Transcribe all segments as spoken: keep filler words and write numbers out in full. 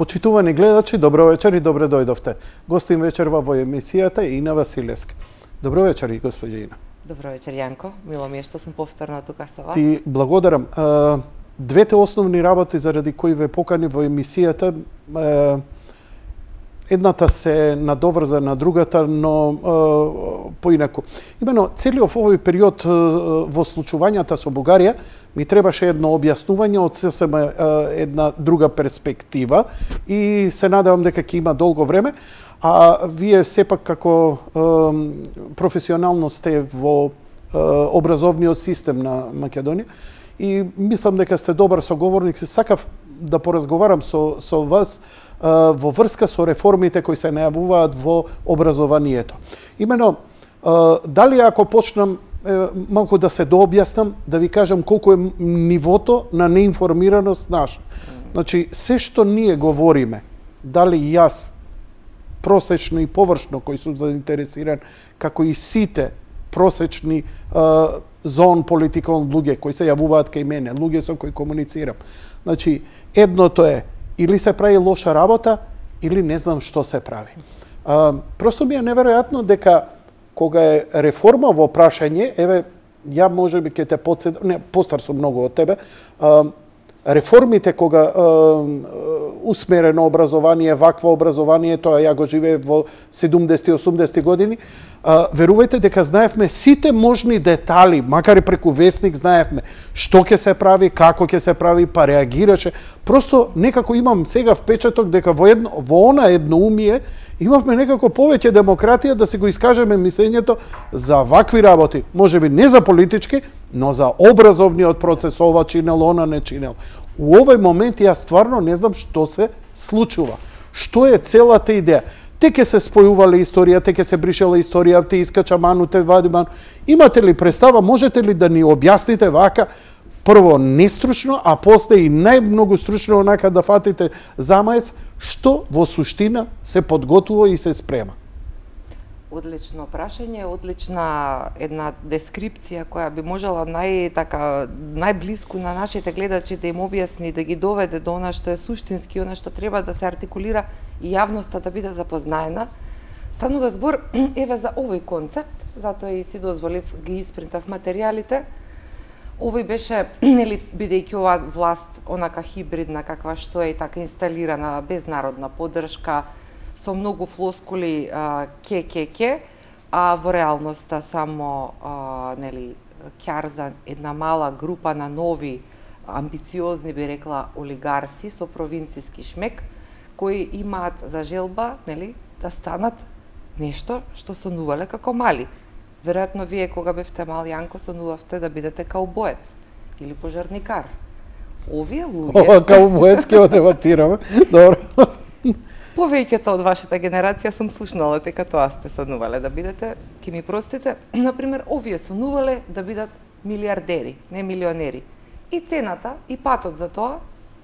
Почитувани гледачи, добро вечер и добре дојдовте. Гостин вечерва во емисијата е Ина Василевска. Добро вечер, господја Ина. Добро вечер, Јанко. Мило ми е што сум повторно тука со вас. Ти благодарам. Двете основни работи заради кои ве покани во емисијата, едната се надоврза на другата, но поинаку. Имено, целиот овој период во случувањата со Бугарија ми требаше едно објаснување од сесем една друга перспектива и се надевам дека ќе има долго време, а вие сепак како професионално сте во образовниот систем на Македонија и мислам дека сте добар соговорник. Се сакав да поразговарам со, со вас во врска со реформите кои се најавуваат во образованието. Имено, дали ако почнам малку да се дообјаснам, да ви кажам колку е нивото на неинформираност наша. Значи, се што ние говориме, дали јас, просечно и површно, кои сум заинтересиран, како и сите просечни зон политикални луѓе кои се јавуваат кај мене, луѓе со кои комуницирам. Значи, едното е или се прави лоша работа, или не знам што се прави. А, просто ми е неверојатно дека кога е реформа во прашање, еве, ја можеби ќе те подседам, не, постар сум многу од тебе, а, реформите кога а, усмерено образование, вакво образование, тоа ја го живеев во седумдесети осумдесети години, а, верувајте дека знаевме сите можни детали, макар и преку весник знаевме што ќе се прави, како ќе се прави, па реагираше. Просто некако имам сега впечаток дека во едно во она едноумие имавме некако повеќе демократија да се го искажеме мислењето за вакви работи, можеби не за политички, но за образовниот процес, ова чинел, она не чинел. У овој момент јас стварно не знам што се случува. Што е целата идеја? Те ке се спојувале историја, те ке се бришела историја, те искача ману, те вади ману. Имате ли представа, можете ли да ни објасните вака, прво нестручно, а после и најмногу стручно онака да фатите замаец, што во суштина се подготвува и се спрема? Одлично прашање, одлична една дескрипција која би можела нај така најблиску на нашите гледачи да им објасни, да ги доведе до она што е суштински, она што треба да се артикулира и јавноста да биде запознаена. Станува збор еве за овој концепт, затоа и си дозволив ги испринтав материјалите. Овој беше, нели, бидејќи оваа власт онака хибридна каква што е и така инсталирана, без народна поддршка, со многу флоскули ке ке ке, а во реалноста само а, нели ќар за една мала група на нови амбициозни, би рекла, олигарси со провинцијски шмек кои имаат за желба, нели, да станат нешто што сонувале како мали. Веројатно вие кога бевте мал, Јанко, сонувавте да бидете каубоец или пожарникар. Овие луѓе... Ова каубоец ќе го дебатираме. Добро. Повеќето од вашата генерација сум слушнала дека тоа сте сонувале да бидете, ќе ми простите, например, овие сонувале да бидат милиардери, не милионери. И цената, и патот за тоа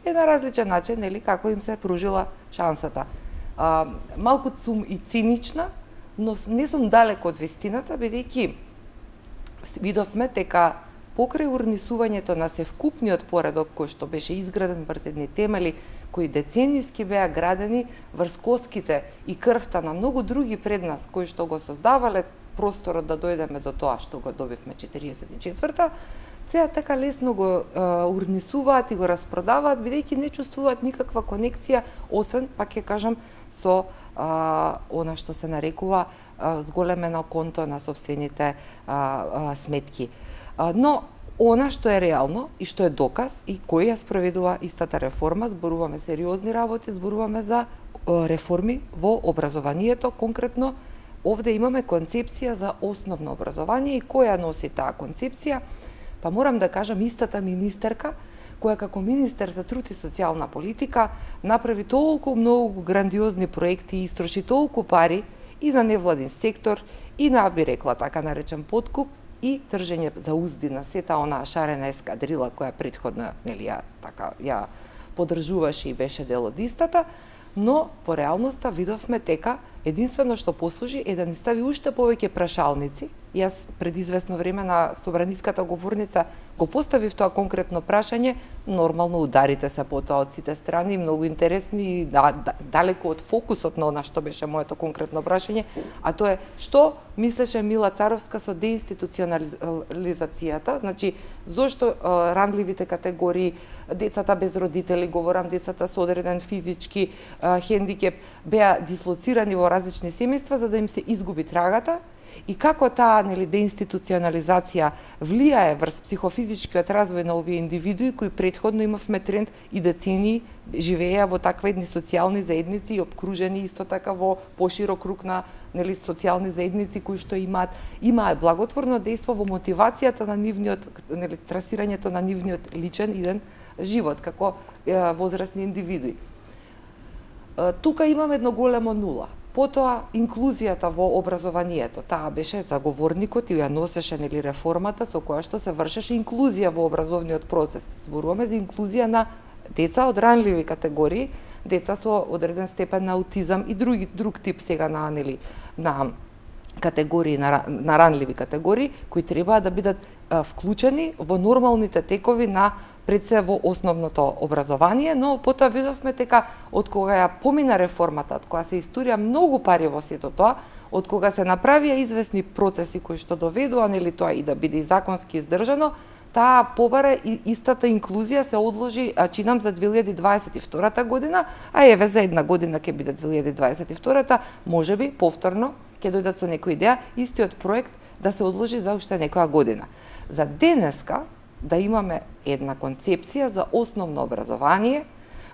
е на различен начин, нели, како им се пружила шансата. А, малку сум и цинична, но не сум далеко од вистината, бидејќи видовме дека покрај урнисувањето на севкупниот поредок кој што беше изграден врз едни темели, кои деценијски беа градени врз коските и крвта на многу други пред нас, кои што го создавале просторот да дојдеме до тоа што го добивме четириесет и четврта, сега така лесно го е, урнисуваат и го распродаваат, бидејќи не чувствуваат никаква конекција, освен, пак ќе кажам, со а, она што се нарекува а, зголемено конто на собствените а, а, сметки. А, но она што е реално и што е доказ и кој ја спроведува истата реформа, зборуваме сериозни работи, зборуваме за реформи во образованието, конкретно овде имаме концепција за основно образование и која носи таа концепција, па морам да кажам истата министерка, која како министер за труд и социјална политика направи толку многу грандиозни проекти и истроши толку пари и за невладин сектор, и на, би рекла, така наречен подкуп, и тржење за узди на сета онаа шарена ескадрила која претходно, нели, ја така ја поддржуваше и беше дел од истата, но во реалноста видовме дека Единствено што послужи е да ни стави уште повеќе прашалници. Јас пред известно време на собраниската говорница го поставив тоа конкретно прашање, нормално ударите се по тоа од сите страни, многу интересни и да, да, далеко од фокусот на она што беше моето конкретно прашање, а тоа е што мислеше Мила Царовска со деинституционализацијата, значи зошто а, ранливите категории, децата без родители, говорам децата со одреден физички а, хендикеп, беа дислоцирани во различни семејства за да им се изгуби трагата, и како таа нели деинституционализација влијае врз психофизичкиот развој на овие индивидуи кои претходно имавме тренд и децении живееа во таква едни социјални заедници и обкружени исто така во поширок круг на нели социјални заедници кои што имаат имаат благотворно дејство во мотивацијата на нивниот нели трасирањето на нивниот личен иден живот како е, возрастни индивидуи. Е, тука имаме едно големо нула. Потоа, инклузијата во образованието, таа беше заговорникот и ја носеше нели реформата со која што се вршеше инклузија во образовниот процес. Зборуваме за инклузија на деца од ранливи категории, деца со одреден степен на аутизам и други друг тип сега на нели на категории на, на ранливи категории кои треба да бидат а, вклучени во нормалните текови на пред се во основното образование, но потоа видовме дека од кога ја помина реформата, од кога се историја многу пари во сето тоа, од кога се направија известни процеси кои што доведува нели тоа и да биде и законски издржано, таа побара и истата инклузија се одложи, а чинам за две илјади дваесет и втора година, а еве за една година ќе биде две илјади дваесет и втора, можеби повторно ќе дојдат со некоја идеја истиот проект да се одложи за уште некоја година. За денеска да имаме една концепција за основно образование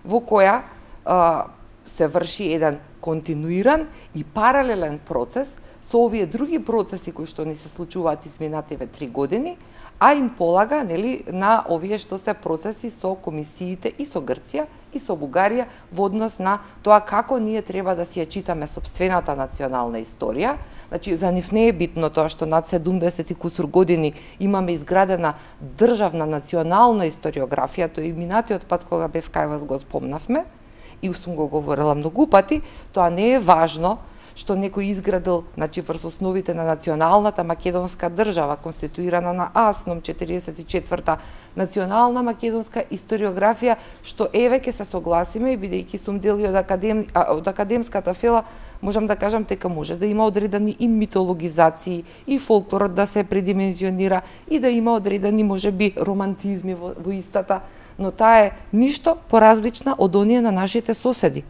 во која а, се врши еден континуиран и паралелен процес со овие други процеси кои што ни се случуваат изминативе три години, а им полага нели на овие што се процеси со комисиите и со Грција и со Бугарија во однос на тоа како ние треба да си ја читаме сопствената национална историја. Значи, за нив не е битно тоа што над седумдесет и кусур години имаме изградена државна национална историографија, тоа и минатиот пат кога бев кај вас го спомнавме, и сум го говорила многу пати, тоа не е важно што некој изградил, значи врз основите на националната македонска држава, конституирана на АСНОМ четириесет и четврта, национална македонска историографија, што еве ќе се согласиме, бидејќи сум дел од, академ, од академската фела, можам да кажам дека може да има одредени и митологизации, и фолклорот да се предимензионира, и да има одредени, можеби, романтизми во, во истата, но таа е ништо поразлична од оние на нашите соседи.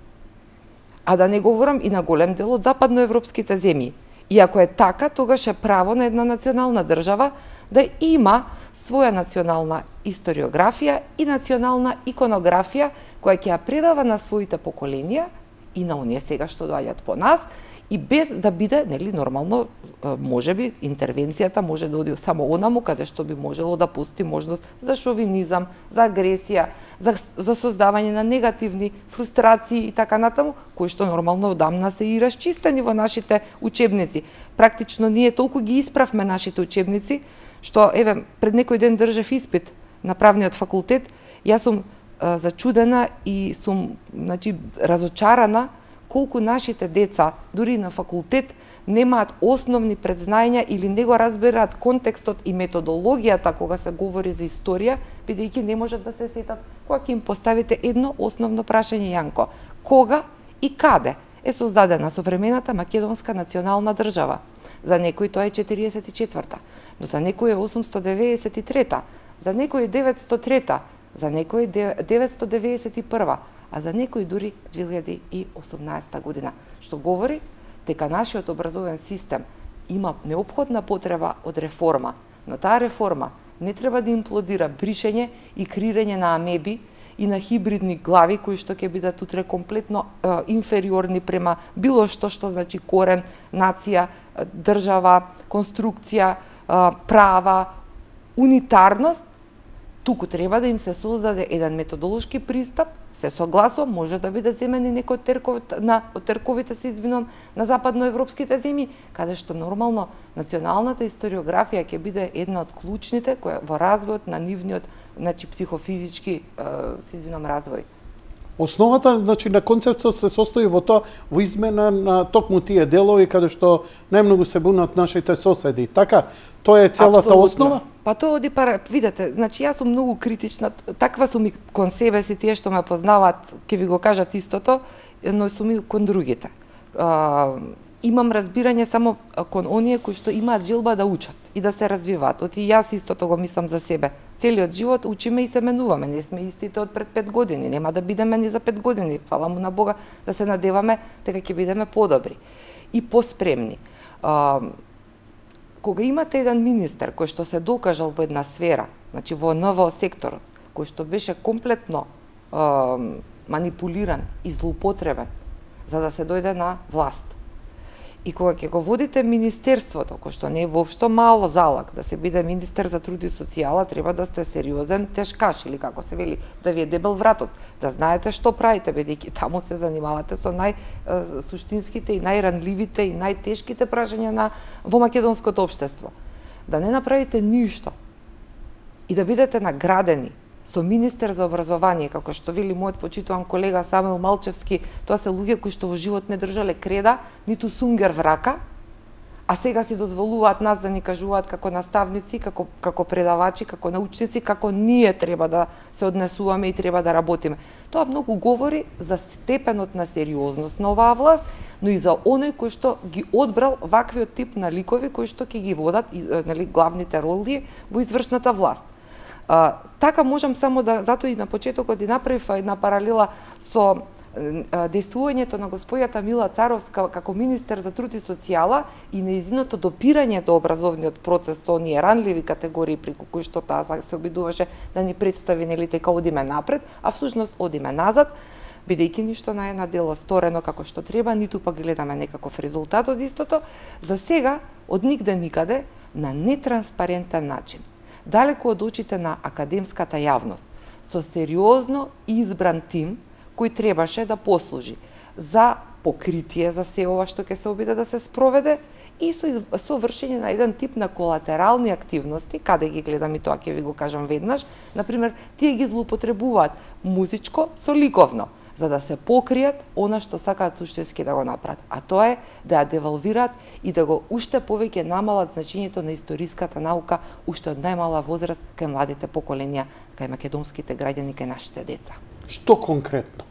А да не говорам и на голем дел од западноевропските земји. И ако е така, тогаш е право на една национална држава да има своја национална историографија и национална иконографија која ќе ја предава на своите поколенија и на оние сега што доаѓаат по нас, и без да биде, нели, нормално, можеби интервенцијата може да оди само онаму каде што би можело да пусти можност за шовинизам, за агресија, за, за создавање на негативни фрустрации и така натаму, кои што нормално одамна се и расчистени во нашите учебници. Практично ние толку ги исправме нашите учебници, што еве пред некој ден држев испит на правниот факултет, јас сум а, зачудена и сум, значи, разочарана колку нашите деца, дури на факултет, немаат основни предзнања или не го разбираат контекстот и методологијата кога се говори за историја, бидејќи не можат да се сетат кога ќе им поставите едно основно прашање, Јанко. Кога и каде е создадена современата македонска национална држава? За некој тоа е четириесет и четврта, но за некој е осумсто деветдесет и трета, за некој е деветсто трета, за некој е деветсто деветдесет и прва, а за некој дури две илјади и осумнаесета година, што говори дека нашиот образовен систем има неопходна потреба од реформа, но таа реформа не треба да имплодира бришење и крирење на амеби и на хибридни глави кои што ќе бидат утре комплетно е, инфериорни према било што што значи корен, нација, држава, конструкција, е, права, унитарност. Туку треба да им се создаде еден методолошки пристап, се согласувам, може да биде земени некој од терковите, на, од терковите се извинувам, на западноевропските земји, каде што нормално националната историографија ќе биде една од клучните која во развојот на нивниот, значи психофизички, се извинувам, развој. Основата, значи, на концептот се состои во тоа, во измена на токму тие делови каде што најмногу се бунат нашите соседи. Така, тоа е целата Апсолутно. основа? Па тоа оди пара, видете, значи јас сум многу критична, таква сум и кон себе си, тие што ме познаваат, ќе ви го кажат истото, но сум и кон другите. А, имам разбирање само кон оние кои што имаат желба да учат и да се развиваат. Оти јас истото го мислам за себе. Целиот живот учиме и се менуваме, не сме истите од пред пет години, нема да бидеме ни за пет години. Фала му на Бога да се надеваме дека ќе бидеме подобри и поспремни. А, кога имате еден министер кој што се докажал во една сфера, значи во ен в о секторот, кој што беше комплетно а, манипулиран и злоупотребен за да се дојде на власт. И кога ќе го водите министерството, кој што не е воопшто мал залак, да се биде министер за труд и социјала, треба да сте сериозен тешкаш или како се вели, да ви е дебел вратот, да знаете што правите, бидејќи таму се занимавате со најсуштинските и најранливите и најтешките прашања на во македонското општество. Да не направите ништо и да бидете наградени со министер за образование, како што вели мојот почитуван колега Самуел Малчевски, тоа се луѓе кои што во живот не држале креда, ниту сунгер врака, а сега си дозволуваат нас да ни кажуваат како наставници, како, како предавачи, како научници, како ние треба да се однесуваме и треба да работиме. Тоа многу говори за степенот на сериозност на оваа власт, но и за оној кој што ги одбрал ваквиот тип на ликови кои што ќе ги водат, нели, главните роли во извршната власт. А, така можам само да, затоа и на почетокот и направив една паралела со а, действувањето на господјата Мила Царовска како министер за труд и социјала и нејзиното допирање до образовниот процес со оние ранливи категории преку кои што таа се обидуваше да ни представи, нели, дека одиме напред, а всушност одиме назад, бидејќи ништо не е на дело сторено како што треба, ниту пак гледаме некаков резултат од истото, за сега од нигде никаде на нетранспарентен начин, далеку од очите на академската јавност, со сериозно избран тим кој требаше да послужи за покритие за се ова што ќе се обиде да се спроведе и со, со вршење на еден тип на колатерални активности, каде ги гледам и тоа ќе ви го кажам веднаш, например, тие ги злоупотребуваат музичко со ликовно, за да се покријат она што сакаат суштински да го направат, а тоа е да ја девалвираат и да го уште повеќе намалат значењето на историската наука уште од најмала возраст кај младите поколенија, кај македонските граѓани, кај нашите деца. Што конкретно?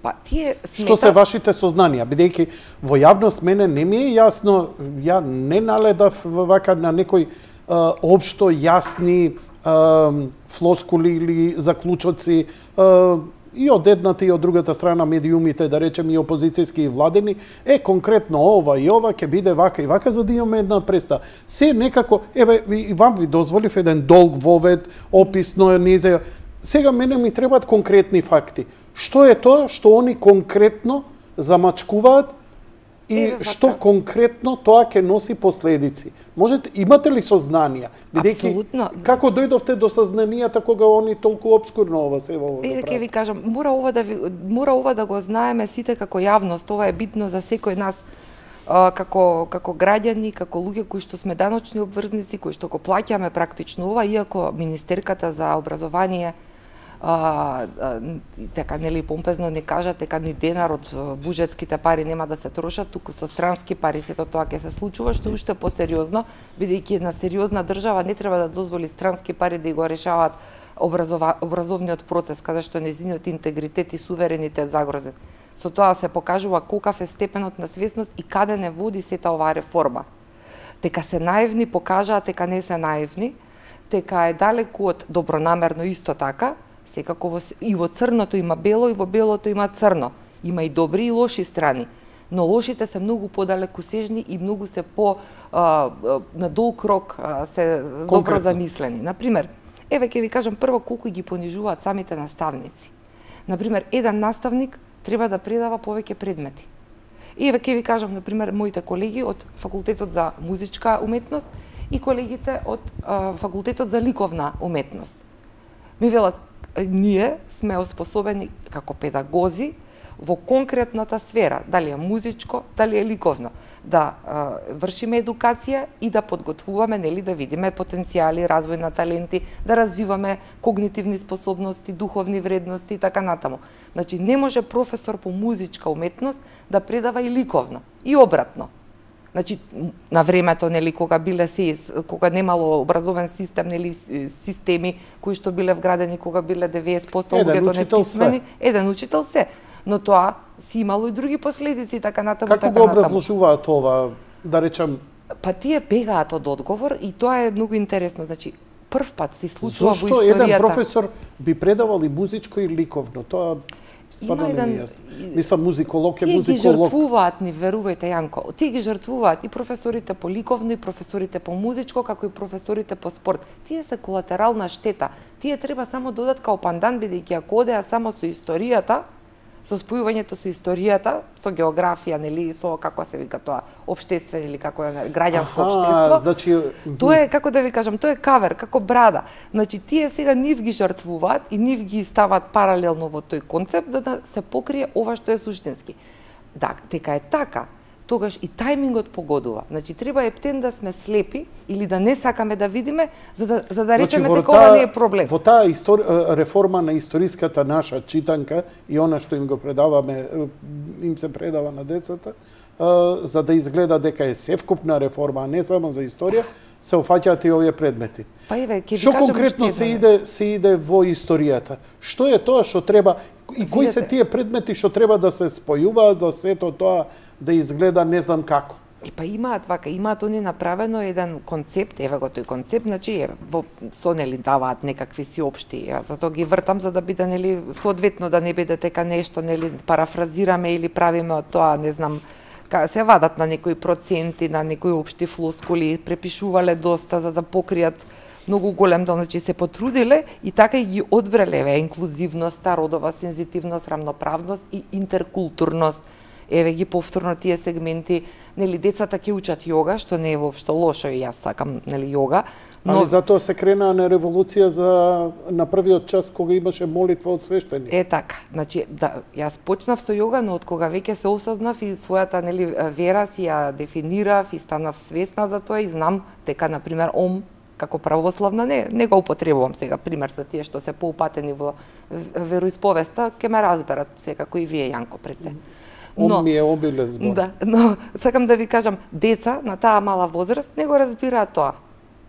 Па тие смета... Што се вашите сознанија, бидејќи во јавност мене не ми е јасно, ја не наледав вака на некои а, општо јасни а, флоскули или заклучоци, а, и од едната и од другата страна медиумите, да речем и опозицијски и владени, е конкретно ова и ова ќе биде вака и вака за да имаме една представа. Се некако, еве и вам ви дозволив еден долг вовед, описно низе. Сега мене ми требаат конкретни факти. Што е тоа што они конкретно замачкуваат и Еве, што конкретно тоа ќе носи последици? Можете, имате ли сознанија? Апсолутно. Како дојдовте до сознанијата кога они толку обскурно ова се во Е, ќе ви кажам, мора ова да ви, мора ова да го знаеме сите како јавност, ова е битно за секој нас а, како како граѓани, како луѓе кои што сме даночни обврзници, кои што го плаќаме практично ова, иако министерката за образование А, а, дека нели помпезно не кажат дека ни денар од буџетските пари нема да се трошат, туку со странски пари сето тоа ќе се случува, што уште посериозно, бидејќи една сериозна држава не треба да дозволи странски пари да го решаваат образова, образовниот процес, каде што нејзиниот интегритет и суверенитет загрозен. Со тоа се покажува колкав е степенот на свесност и каде не води сета оваа реформа. Дека се наивни покажаат дека не се наивни, дека е далеку од добронамерно исто така. Секако во, и во црното има бело, и во белото има црно. Има и добри и лоши страни. Но лошите се многу подалекусежни и многу се по а, на долг рок а, се Конкретно. Добро замислени. Например, еве ќе ви кажам прво колку ги понижуваат самите наставници. Например, еден наставник треба да предава повеќе предмети. Еве ќе ви кажам, например, моите колеги од факултетот за музичка уметност и колегите од а, факултетот за ликовна уметност. Ми велат, ние сме оспособени како педагози во конкретната сфера, дали е музичко, дали е ликовно, да а, вршиме едукација и да подготвуваме, нели, да видиме потенцијали, развој на таленти, да развиваме когнитивни способности, духовни вредности и така натаму. Значи, не може професор по музичка уметност да предава и ликовно, и обратно. Значи, на времето, нели, кога биле се, кога немало образовен систем, нели, системи кои што биле вградени, кога биле деветдесет проценти луѓето неписмени, еден учител се. Но тоа си имало и други последици и така натаму. Како го образложуваат ова, да речам? Па тие бегаат од одговор и тоа е многу интересно. Значи, прв пат се случува Зошто во историјата. Зошто еден професор би предавал и музичко и ликовно? Тоа стварно не ми е јасно. Мислам, музиколог е музиколог. Тие ги жртвуваат, ни верувајте, Јанко. Тие ги жртвуваат и професорите по ликовно, и професорите по музичко, како и професорите по спорт. Тие се колатерална штета. Тие треба само додат као пандан, бидејќи ако одеа само со историјата, со спојувањето со историјата, со географија, нели, со како се вика тоа, општествен или како е граѓанско општество. Значи, тоа е, како да ви кажам, тоа е кавер, како брада. Значи, тие сега нив ги жртвуваат и нив ги стават паралелно во тој концепт за да се покрие ова што е суштински. Да, дека е така, тогаш и тајмингот погодува. Значи, треба ептен да сме слепи или да не сакаме да видиме, за да, за да речеме значи, дека ова не е проблем. Во таа истори... реформа на историската наша читанка и она што им го предаваме, им се предава на децата, за да изгледа дека е севкупна реформа, а не само за историја, се офаќаат и овие предмети. Па еве, ќе ви што кажам конкретно што се иде се иде во историјата? Што е тоа што треба и кои се тие предмети што треба да се спојуваат за сето тоа да изгледа не знам како? И па имаат вака, имаат они направено еден концепт, еве го тој концепт, значи е, во со нели даваат некакви си општи, ја затоа ги вртам за да биде нели соодветно да не биде дека нешто нели парафразираме или правиме од тоа, не знам, се вадат на некои проценти, на некои општи флоскули, препишувале доста за да покријат многу голем дел, значи се потрудиле и така и ги одбрале еве инклузивноста, родова сензитивност, рамноправност и интеркултурност. Еве ги повторно тие сегменти, нели децата ќе учат јога, што не е воопшто лошо и јас сакам нели јога. Но... Али затоа се крена на револуција за на првиот час кога имаше молитва од свештеник. Е така, значи да јас почнав со јога, но од кога веќе се осознав и својата нели вера си ја дефинирав и станав свесна за тоа и знам дека на пример ом како православна не не го употребувам сега пример за тие што се поупатени во вероисповеста, ќе ме разберат секако и вие Јанко пред се. Но, ом ми е обилен збор. Да, но сакам да ви кажам, деца на таа мала возраст не го разбираат тоа.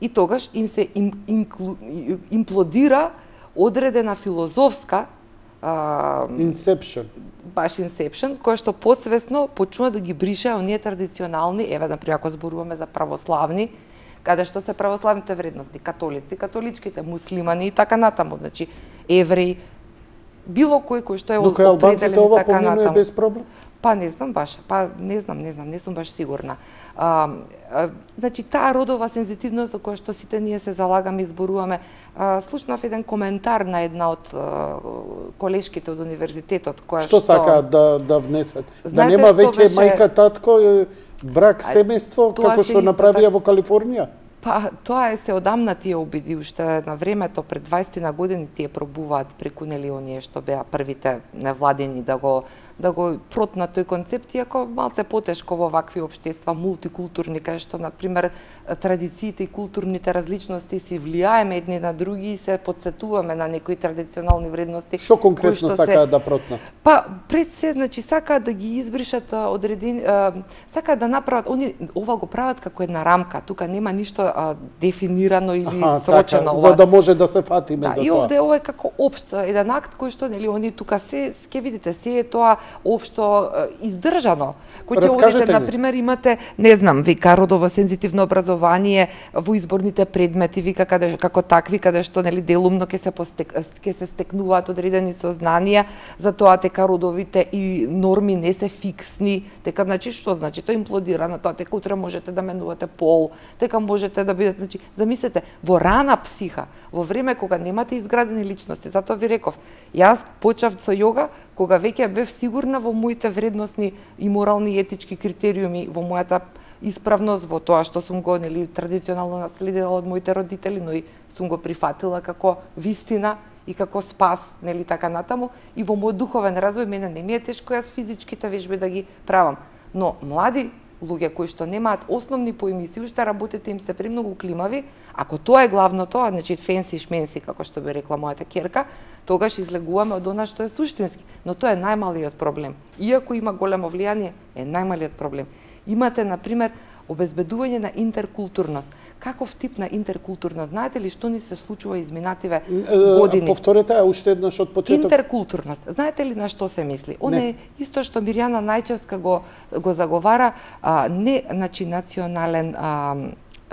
И тогаш им се им, инклу, имплодира одредена филозофска а, Inception. Баш Inception, која што подсвесно почнува да ги брише оние традиционални, еве например ако зборуваме за православни, каде што се православните вредности, католици, католичките, муслимани и така натаму, значи евреи, било кој кој што е определен така натаму. Докај албанците ова поминува без проблем? Па не знам баш, па не знам, не знам, не сум баш сигурна. А, а, значи таа родова сензитивност за која што сите ние се залагаме и зборуваме, а, слушнав еден коментар на една од а, колешките од универзитетот која што Што сакаат да да внесат? Знаете, да нема веќе беше... мајка татко брак семејство како што направија во Калифорнија? Па тоа е се одамна тие обиди, уште на времето пред дваесет на години тие пробуваат преку нели оние што беа првите невладени да го да го протнат тој концепт, иако малце потешко во вакви општества мултикултурни, кај што на пример традициите и културните различности си влијаеме едни на други и се потсетуваме на некои традиционални вредности. Што конкретно сакаат се... да протнат? Па пред се, значи сакаат да ги избришат одредени, сакаат да направат, они ова го прават како една рамка, тука нема ништо а, дефинирано или Аха, срочено. Така, за да може да се фатиме да, за и тоа. И овде ова е како општ еден акт кој што нели они тука се ќе видите се е тоа општо издржано. Кој ќе одите, на пример, имате, не знам, вика родово сензитивно образование во изборните предмети, вика каде како такви каде што нели делумно ќе се постек, ќе се стекнуваат одредени сознанија за тоа дека родовите и норми не се фиксни, дека значи што значи тоа имплодира на тоа дека утре можете да менувате пол, дека можете да бидете, значи замислете во рана психа, во време кога немате изградени личности, затоа ви реков, јас почнав со јога кога веќе бев сигурна во моите вредностни и морални и етички критериуми, во мојата исправност, во тоа што сум го нели традиционално наследила од моите родители, но и сум го прифатила како вистина и како спас, нели така натаму, и во мојот духовен развој мене не ми е тешко јас физичките вежби да ги правам. Но млади луѓе кои што немаат основни поими и си уште работите им се премногу климави, ако тоа е главното, значи фенси шменси, како што би рекла мојата ќерка, тогаш излегуваме од она што е суштински. Но тоа е најмалиот проблем. Иако има големо влијание, е најмалиот проблем. Имате, например, обезбедување на интеркултурност. Каков тип на интеркултурност? Знаете ли што ни се случува изминативе години? Повторете ја уште еднаш од почеток. Интеркултурност. Знаете ли на што се мисли? Оне е исто што Мирјана Најчевска го го заговара, а, не значи национален а,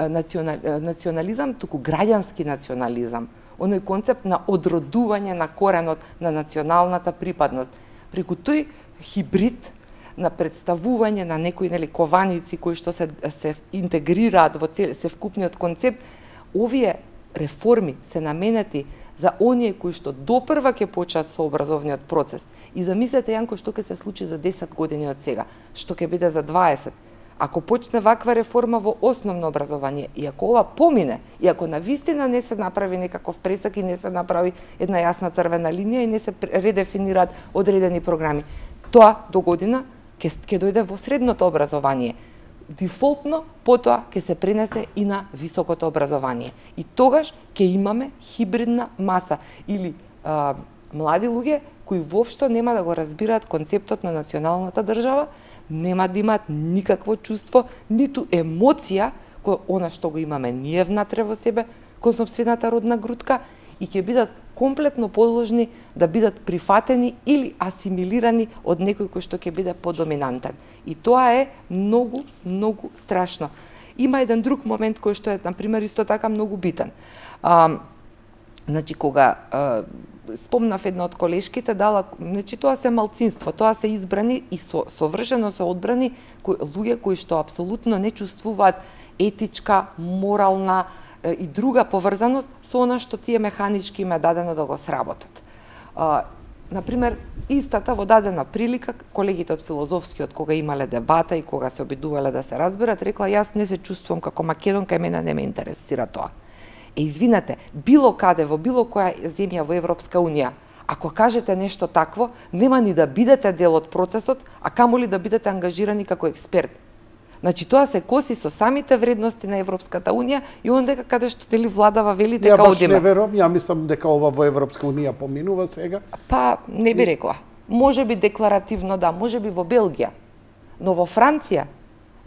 национал, национализам, туку граѓански национализам. Оној концепт на одродување на коренот на националната припадност. Преку тој хибрид на представување на некои нели кованици кои што се се интегрираат во цел се вкупниот концепт, овие реформи се наменети за оние кои што допрва ќе почнат со образовниот процес. И замислете, Јанко, што ќе се случи за десет години од сега, што ќе биде за дваесет. Ако почне ваква реформа во основно образование, и ако ова помине, и ако навистина не се направи некаков пресак и не се направи една јасна црвена линија и не се редефинираат одредени програми, тоа до година ќе ќе дојде во средното образование. Дефолтно, потоа ќе се пренесе и на високото образование. И тогаш ќе имаме хибридна маса или а, млади луѓе кои воопшто нема да го разбираат концептот на националната држава, нема да имаат никакво чувство, ниту емоција кој она што го имаме ние внатре во себе, кон сопствената родна грудка, и ќе бидат комплетно подложни да бидат прифатени или асимилирани од некој кој што ќе биде подоминантен. И тоа е многу, многу страшно. Има еден друг момент кој што е, например, исто така многу битен. А, значи, кога а, спомнав една од колешките, дала, значи, тоа се малцинство, тоа се избрани и со, совршено се одбрани кои, луѓе кои што апсолутно не чувствуваат етичка, морална и друга поврзаност со она што тие механички им е дадено да го сработат. А, например, истата во дадена прилика, колегите од филозофскиот, кога имале дебата и кога се обидувале да се разберат, рекла, јас не се чувствувам како македонка и мене не ме интересира тоа. Е, извинете, било каде, во било која земја во Европска Унија, ако кажете нешто такво, нема ни да бидете дел од процесот, а камоли да бидете ангажирани како експерт. Значи, тоа се коси со самите вредности на Европската Унија и ондека каде што дели владава вели дека одиме. Ја баш не верувам, ја мислам дека ова во Европска Унија поминува сега. Па, не би рекла. Може би декларативно да, може би во Белгија. Но во Франција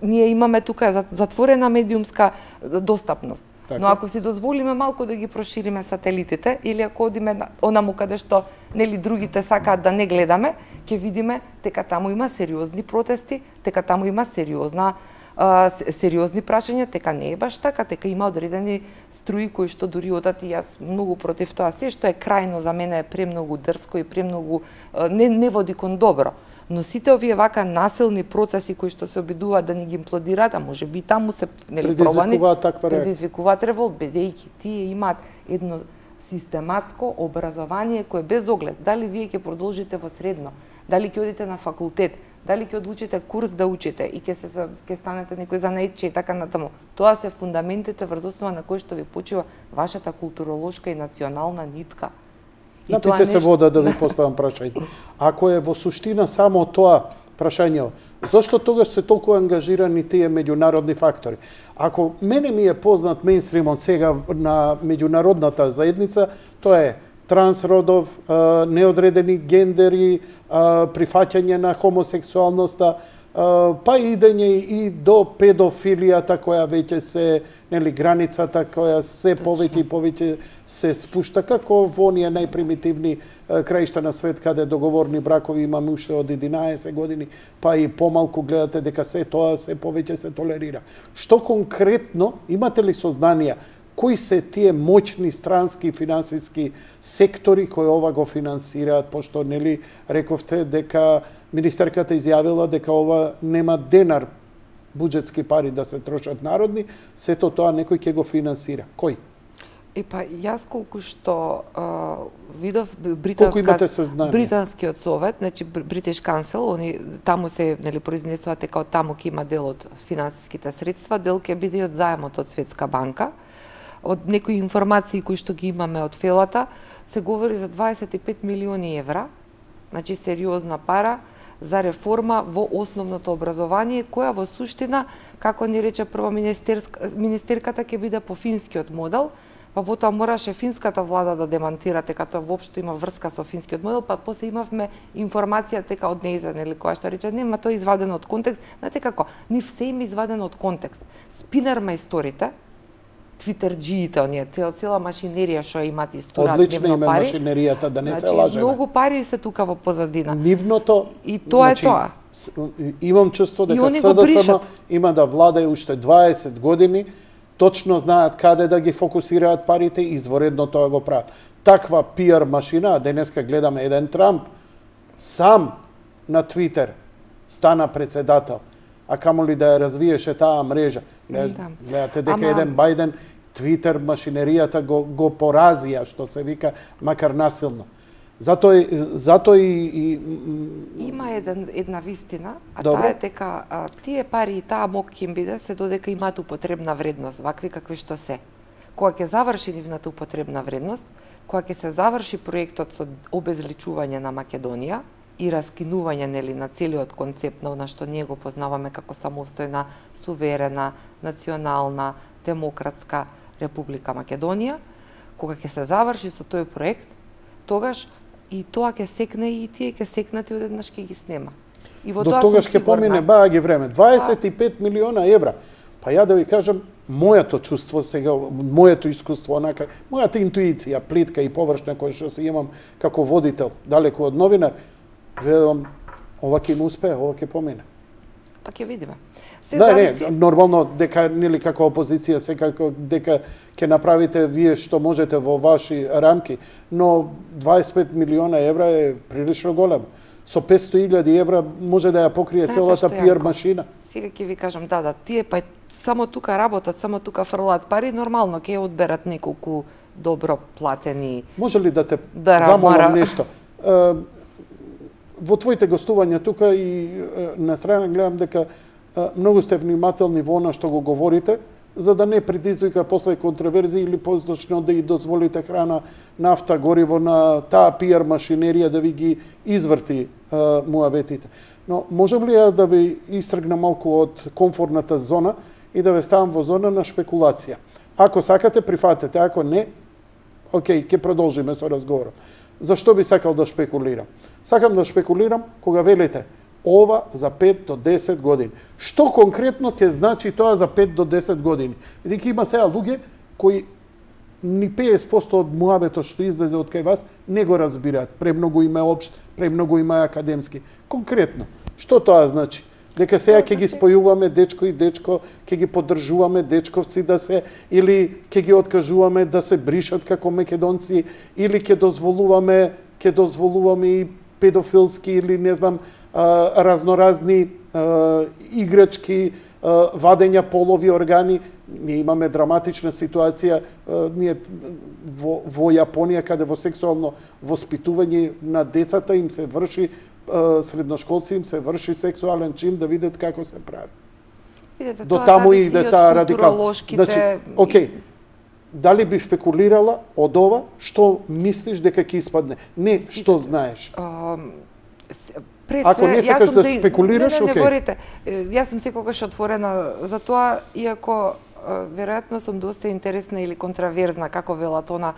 ние имаме тука затворена медиумска достапност. Така. Но ако си дозволиме малку да ги прошириме сателитите или ако одиме онаму каде што нели другите сакаат да не гледаме, ќе видиме дека таму има сериозни протести, дека таму има сериозна а, сериозни прашања, дека не е баш така, дека има одредени струи кои што дури одат и јас многу против тоа. Се што е крајно за мене е премногу дрско и премногу а, не не води кон добро. Но сите овие вака насилни процеси кои што се обидуваат да ни ги имплодираат, а може би таму се нели пробани, предизвикуваат револт, бидејќи тие имаат едно систематско образование кое без оглед дали вие ќе продолжите во средно, дали ќе одите на факултет, дали ќе одлучите курс да учите и ќе се ќе станете некој занаетче и така натаму. Тоа се фундаментите врз основа на кои што ви почива вашата културолошка и национална нитка. Напите се вода да ви поставам прашање. Ако е во суштина само тоа прашање, зошто тогаш се толку ангажирани тие меѓународни фактори? Ако мене ми е познат мејнстримот сега на меѓународната заедница, тоа е трансродов, неодредени гендери, прифаќање на хомосексуалноста, па идење и до педофилијата која веќе се, нели, границата која се повеќе и повеќе се спушта, како во оние најпримитивни краишта на свет каде договорни бракови имаме уште од единаесет години, па и помалку гледате дека се тоа се повеќе се толерира. Што конкретно имате ли сознанија кои се тие моćни странски финансиски сектори кои ова го финансираат, пошто нели рековте дека министерката изјавила дека ова нема денар буџетски пари да се трошат народни, сето тоа некој ќе го финансира. Кој? И па јас колку што а, видов британска британскиот совет, значи British Council, они таму се нели произнесуваат дека од таму ќе има дел од финансиските средства, дел ќе биде од заемот од Светска банка. од некои информации кои што ги имаме од фелата, се говори за дваесет и пет милиони евра, значи сериозна пара, за реформа во основното образование, која во суштина, како ни рече прво министерката, ќе биде по финскиот модел, па потоа мораше финската влада да демантира дека тоа воопшто има врска со финскиот модел, па после имавме информација дека од неизен или која што рече, нема тоа извадено од контекст. Знаете како, нив се им извадено од контекст. Спинер мајсторите, твитерџиите, оние, цела, цела машинерија што имаат истораат нивно пари. Одлична име машинеријата, да не значи, се лажеме. Многу пари се тука во позадина. Нивното... И тоа значи, е тоа. Имам чувство дека СДСМ има да владае уште дваесет години, точно знаат каде да ги фокусираат парите и изворедно тоа го прават. Таква пиар машина, денеска гледаме еден Трамп, сам на Твитер стана председател, а камоли да ја развиеше таа мрежа. Гледате дека Ама... еден Бајден Твитер машинеријата го, го поразија, што се вика, макар насилно. Затоа и, зато и, и... Има еден, една вистина, а Добро. таа е дека а, тие пари и таа мок ќе им биде се додека имаат употребна вредност, вакви какви што се. Кога ќе заврши нивната употребна вредност, кога ќе се заврши проектот со обезличување на Македонија и раскинување нели на целиот концепт на што ние го познаваме како самостојна, суверена, национална, демократска Република Македонија, кога ќе се заврши со тој проект, тогаш и тоа ќе секне и тие ќе секнат и одеднаш ќе ги снема. И во До тоа тогаш ќе помине баа ги време. дваесет и пет милиона евра. Па ја да ви кажам, моето чувство сега, моето искуство, онака, мојата интуиција, плитка и површна која што се имам како водител, далеку од новинар, ведам, ова ќе им успее, ова ќе помине. Па ќе видиме. Се да, зависи... не, нормално дека нели како опозиција секако дека ќе направите вие што можете во ваши рамки, но дваесет и пет милиона евра е прилично голем. Со петсто илјади евра може да ја покрие Знаете целата пиар јако? машина. Сега ќе ви кажам, да, да, тие па само тука работат, само тука фрлаат пари, нормално ќе одберат неколку добро платени. Може ли да те да замолам мора... нешто? Во твоите гостувања тука и на страна гледам дека многу сте внимателни во она што го говорите, за да не предизвика после контроверзии или позначно да и дозволите храна, нафта, гориво на таа пиар машинерија да ви ги изврти муабетите. Но можам ли ја да ви истргнам малку од комфортната зона и да ве ставам во зона на шпекулација? Ако сакате, прифатете, ако не, окей, ќе продолжиме со разговорот. Зашто би сакал да шпекулирам? Сакам да шпекулирам кога велите ова за пет до десет години. Што конкретно ќе значи тоа за пет до десет години? Бидејќи има сега луѓе кои ни петдесет проценти од муабетот што излезе од кај вас не го разбираат. Премногу има општ, премногу има академски. Конкретно, што тоа значи? Дека сега ќе ги спојуваме дечко и дечко, ќе ги поддржуваме дечковци да се, или ќе ги откажуваме да се бришат како македонци, или ќе дозволуваме, ќе дозволуваме и педофилски или не знам, а, разноразни а, играчки, а, вадења полови органи. Ние имаме драматична ситуација а, ние во, во Јапонија, каде во сексуално воспитување на децата им се врши, средношколци им се врши сексуален чин, да видат како се прави. Видете, до таму иде таа радикал. Значи, окей, дали би шпекулирала од ова, што мислиш дека ќе испадне? Не, што знаеш. А, пред Ако не сакаш да за... шпекулираш, не, не, не, окей. говорите. Јас сум секогаш отворена за тоа, иако веројатно сум доста интересна или контраверзна, како велат она,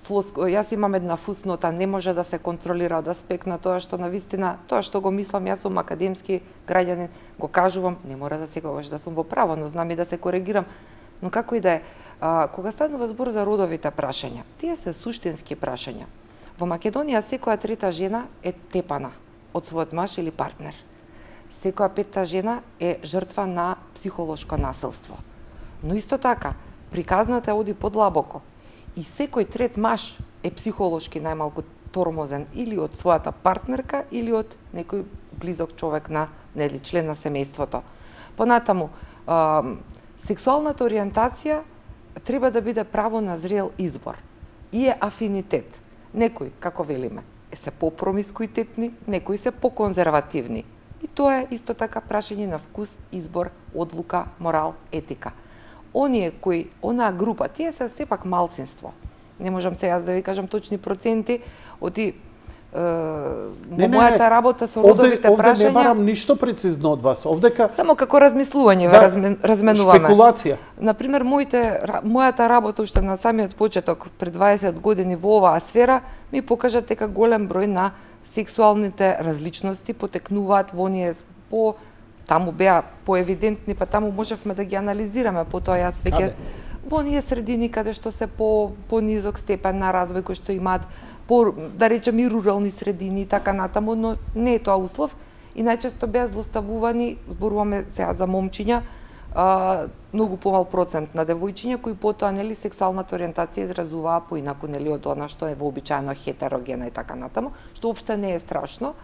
јас имам една фуснота, не може да се контролира од аспект на тоа што навистина, тоа што го мислам, јас сум академски граѓанин, го кажувам, не мора да секогаш да сум во право, но знам и да се коригирам. Но како и да е, а, кога станува збор за родовите прашања, тие се суштински прашања. Во Македонија секоја трета жена е тепана од својот маж или партнер. Секоја петта жена е жртва на психолошко насилство. Но исто така, приказната оди подлабоко. И секој трет маж е психолошки најмалку тормозен или од својата партнерка или од некој близок човек на нели член на семејството. Понатаму, а, сексуалната ориентација треба да биде право на зрел избор и е афинитет. Некои, како велиме, се попромискуитетни, некои се поконзервативни. И тоа е исто така прашање на вкус, избор, одлука, морал, етика. оние кои, онаа група, тие се сепак малцинство. Не можам сега да ви кажам точни проценти, оти Не, не, мојата не. работа со родовите овде, прашања. Овде не барам ништо прецизно од вас. Овдека Само како размислување да, размен, разменуваме. Шпекулација. Например, моите, мојата работа уште на самиот почеток, пред дваесет години во оваа сфера, ми покажа дека голем број на сексуалните различности потекнуваат во оние по таму беа поевидентни, па таму можевме да ги анализираме, потоа јас веќе во оние средини каде што се по по низок степен на развој, кои што имаат по, да речем, и рурални средини и така натаму, но не е тоа услов и најчесто беа злоставувани, зборуваме сега за момчиња, а, многу помал процент на девојчиња кои потоа нели сексуалната ориентација изразуваа поинаку нели од она што е вообичаено хетерогена и така натаму, што опште не е страшно,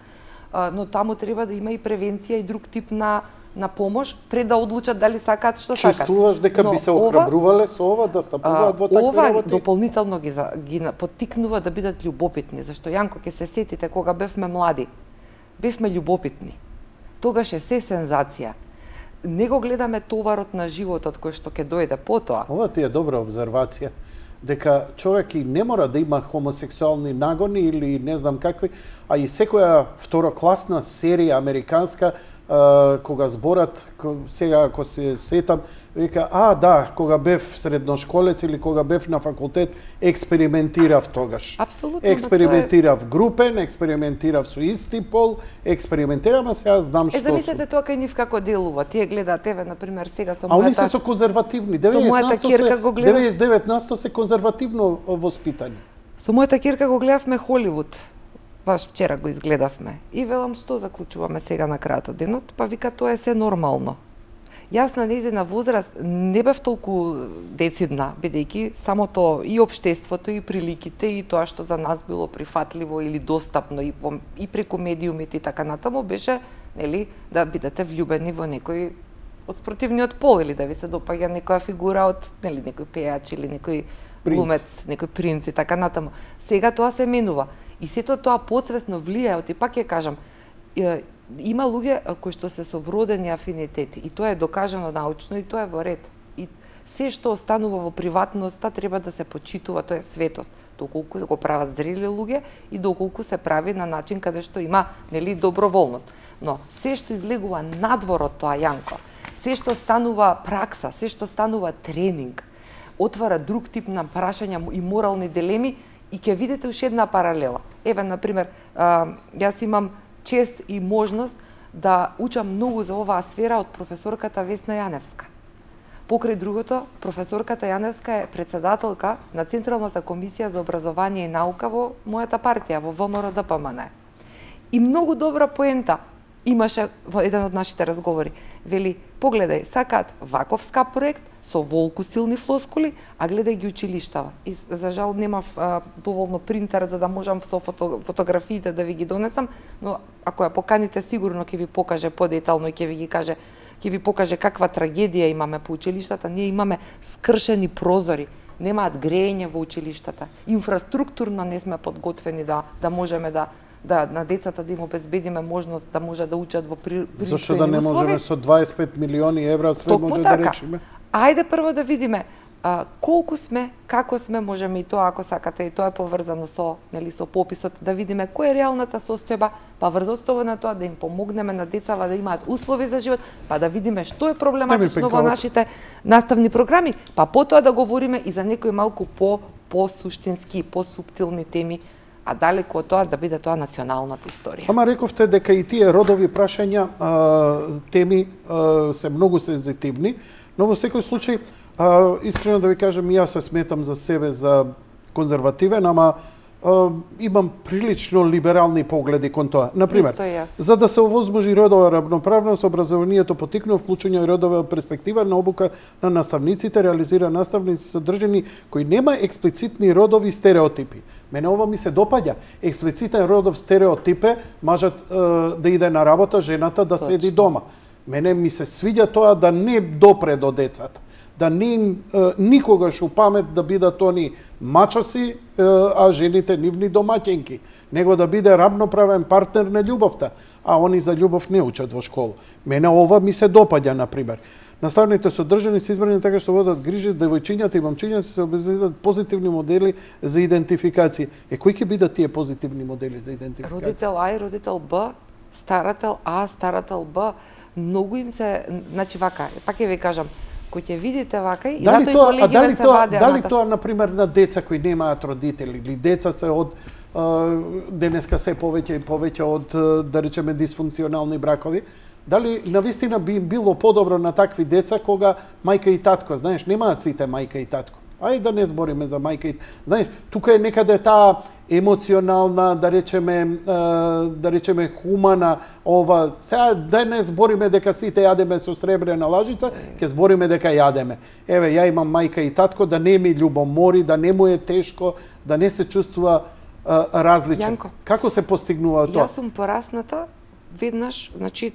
а, но таму треба да има и превенција и друг тип на на помош пред да одлучат дали сакаат што сакаат. Чувствуваш дека но би се охрабрувале со ова да стапуваат во такви ова работи? Дополнително ги, ги поттикнува да бидат љубопитни, зашто Јанко ќе се сетите кога бевме млади, бевме љубопитни. Тогаш е се сензација. Не го гледаме товарот на животот кој што ќе дојде потоа. Ова ти е добра обзервација, дека човек и не мора да има хомосексуални нагони или не знам какви, а и секоја второкласна серија американска, Uh, кога зборат, сега ако се сетам, вика, а да, кога бев средношколец или кога бев на факултет, експериментирав тогаш. Апсолутно. Експериментирав е... групен, експериментирав со исти пол, експериментирам, а сега знам што. Е, замислете тоа кај нив како делува. Тие гледаат тебе, например, сега со мојата... А они се со конзервативни. Со мојата керка го гледам... деветдесет и девет на сто се конзервативно воспитани. Со мојата керка го гледавме Холивуд. Баш вчера го изгледавме. И велам, што заклучуваме сега на крајот од денот? Па вика, тоа е се нормално. Јас на нејзина возраст не бев толку децидна, бидејќи самото и општеството, и приликите, и тоа што за нас било прифатливо или достапно и, во, и преку медиумите и така натаму, беше, нели, да бидете влюбени во некој од спротивниот пол или да ви се допаѓа некоја фигура од, нели, некој пејач или некој глумец, некој принц и така натаму. Сега тоа се менува. И сето тоа подсвесно влијае, оти пак ќе кажам, има луѓе кои што се со вродени афинитети и тоа е докажано научно и тоа е во ред. И се што останува во приватноста треба да се почитува, тоа е светост, доколку го прават зрели луѓе и доколку се прави на начин каде што има, нели, доброволност. Но се што излегува надвор од тоа, Јанко, се што станува пракса, се што станува тренинг, отвара друг тип на прашања и морални дилеми. И ќе видите уште една паралела. Еве, например, јас имам чест и можност да учам многу за оваа сфера од професорката Весна Јаневска. Покрај другото, професорката Јаневска е председателка на Централната комисија за образование и наука во мојата партија, во ВМРО-ДПМН. И многу добра поента имаше во еден од нашите разговори. Вели, погледај, сакаат ваков скап проект, со волку силни флоскули, а гледај ги училиштава. И за жал немав а, доволно принтер за да можам со фото, фотографиите да ви ги донесам, но ако ја поканите сигурно ќе ви покаже подетално и ќе ви ги каже, ќе ви покаже каква трагедија имаме по училиштата. Ние имаме скршени прозори, немаат грејење во училиштата. Инфраструктурно не сме подготвени да да можеме да да на децата да им обезбедиме можност да може да учат во пристојни услови. Зошто да не можеме со дваесет и пет милиони евра све Токму може така. да речеме? Ајде прво да видиме а, колку сме, како сме, можеме и тоа ако сакате, и тоа е поврзано со, нели, со пописот, да видиме која е реалната состојба, па врз основа на тоа да им помогнеме на децава да имаат услови за живот, па да видиме што е проблематично во нашите наставни програми, па потоа да говориме и за некои малку по по суштински, по суптилни теми, а далеку од тоа да биде тоа националната историја. Ама рековте дека и тие родови прашања, а, теми а, се многу сензитивни, но во секој случај, а, искрено да ви кажам, јас се сметам за себе за конзервативен, ама а, имам прилично либерални погледи кон тоа. Например, за да се овозможи родова равноправност, образованието потикнува вклучување и родова перспектива на обука на наставниците, реализира наставници содржини кои нема експлицитни родови стереотипи. Мене ова ми се допаѓа. Експлицитен родов стереотип е мажот е, да иде на работа, жената да седи дома. Мене ми се свиѓа тоа да не допре до децата. Да не им е, никогаш у памет да бидат они мачоси, е, а жените нивни домаќенки. Него да биде равноправен партнер на љубовта, а они за љубов не учат во школа. Мене ова ми се допаѓа, например. Наставните содржини се избрани така што водат грижи девојчињата и момчињата се обезбедат позитивни модели за идентификација. Е кои ќе бидат тие позитивни модели за идентификација? Родител А и родител Б, старател А, старател Б, многу им се, значи вака, пак ќе ви кажам, кој ќе видите вака и дали затоа тоа, и колегиве се тоа, вадеа. Дали тоа, например, на деца кои немаат родители или деца се од денеска се повеќе и повеќе од, да речеме, дисфункционални бракови, дали навистина би им било подобро на такви деца кога мајка и татко, знаеш, немаат сите мајка и татко. Ај да не збориме за мајка и... Знаеш, тука е некаде таа емоционална, да речеме, да речеме хумана, ова, сега да не збориме дека сите јадеме со сребрена лажица, ќе збориме дека јадеме. Еве, ја имам мајка и татко, да не ми љубомори, да не му е тешко, да не се чувствува различен. Јанко, како се постигнува тоа? Јас сум порасната, веднаш, значи,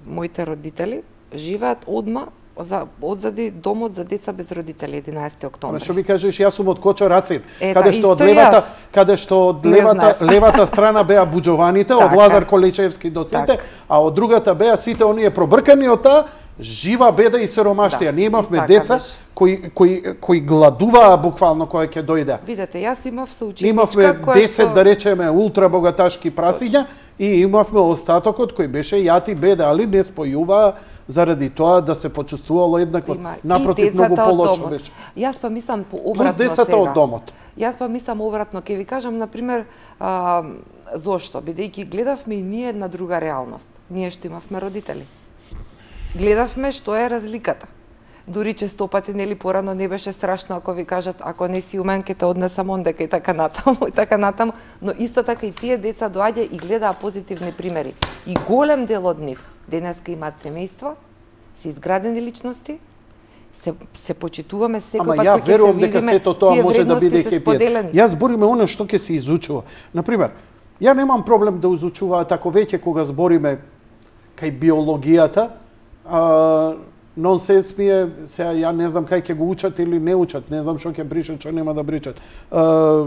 моите родители живеат одма за одзади домот за деца без родители, единаесети октомври. Ама што ми кажеш, јас сум од Кочо Рацин, Ета, каде што од исто левата, јас. каде што од левата, левата страна беа буџованите, од Така. Лазар Количевски до сите, Така. а од другата беа сите оние пробркани од таа жива беда и сиромаштија. Да, Ние имавме така деца беше. кои кои кои гладуваа буквално кога ќе дојде. Видете, јас имав соученичка Имавме која десет, што... да речеме, ултра богаташки прасиња и имавме остатокот кој беше јат и беда, али не спојуваа заради тоа да се почувствувало еднакво. Има Напротив, и многу децата од полошо домот. беше. Јас па мислам по Плюс обратно децата сега. од домот. Јас па мислам обратно, ќе ви кажам, например, а, зошто? Бидејќи гледавме и ние една друга реалност. Ние што имавме родители. Гледавме што е разликата. Дури често пати, нели, порано не беше страшно ако ви кажат, ако не си умен, ке те однесам ондека и така натаму, и така натаму, но исто така и тие деца доаѓа и гледаа позитивни примери. И голем дел од нив денеска имаат семејства, се изградени личности, се се почитуваме секој Ама пат ја кога ќе се верувам дека видиме, сето тоа тие може да вредности биде се кепијат. споделени. Јас збориме оно што ќе се изучува. Например, ја немам проблем да изучуваат ако веќе кога збориме кај биологијата, а, нонсенс ми е, сега ја не знам кај ќе го учат или не учат, не знам што ќе бришат, што нема да бришат. А,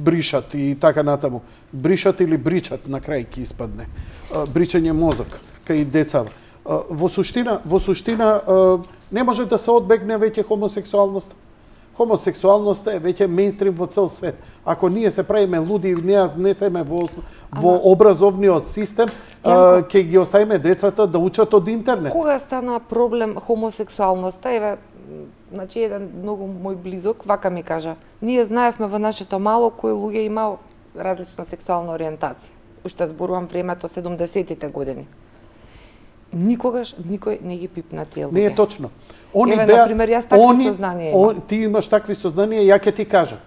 бришат и така натаму. Бришат или бричат на крај ќе испадне. А, бричање мозок кај децава. А, во суштина, во суштина а, не може да се одбегне веќе хомосексуалноста. Хомосексуалноста е веќе мејнстрим во цел свет. Ако ние се правиме луди и не внесеме во, во образовниот систем, а, ќе ги оставиме децата да учат од интернет. Кога стана проблем хомосексуалноста, еве, значи еден многу мој близок вака ми кажа, ние знаевме во нашето мало кои луѓе имао различна сексуална ориентација. Уште зборувам времето седумдесетите години. Никогаш никој не ги пипна тие луѓе. Не е точно. Они Еве, беа, например, јас такви они, сознанија имам. он, ти имаш такви сознанија, ја ќе ти кажа.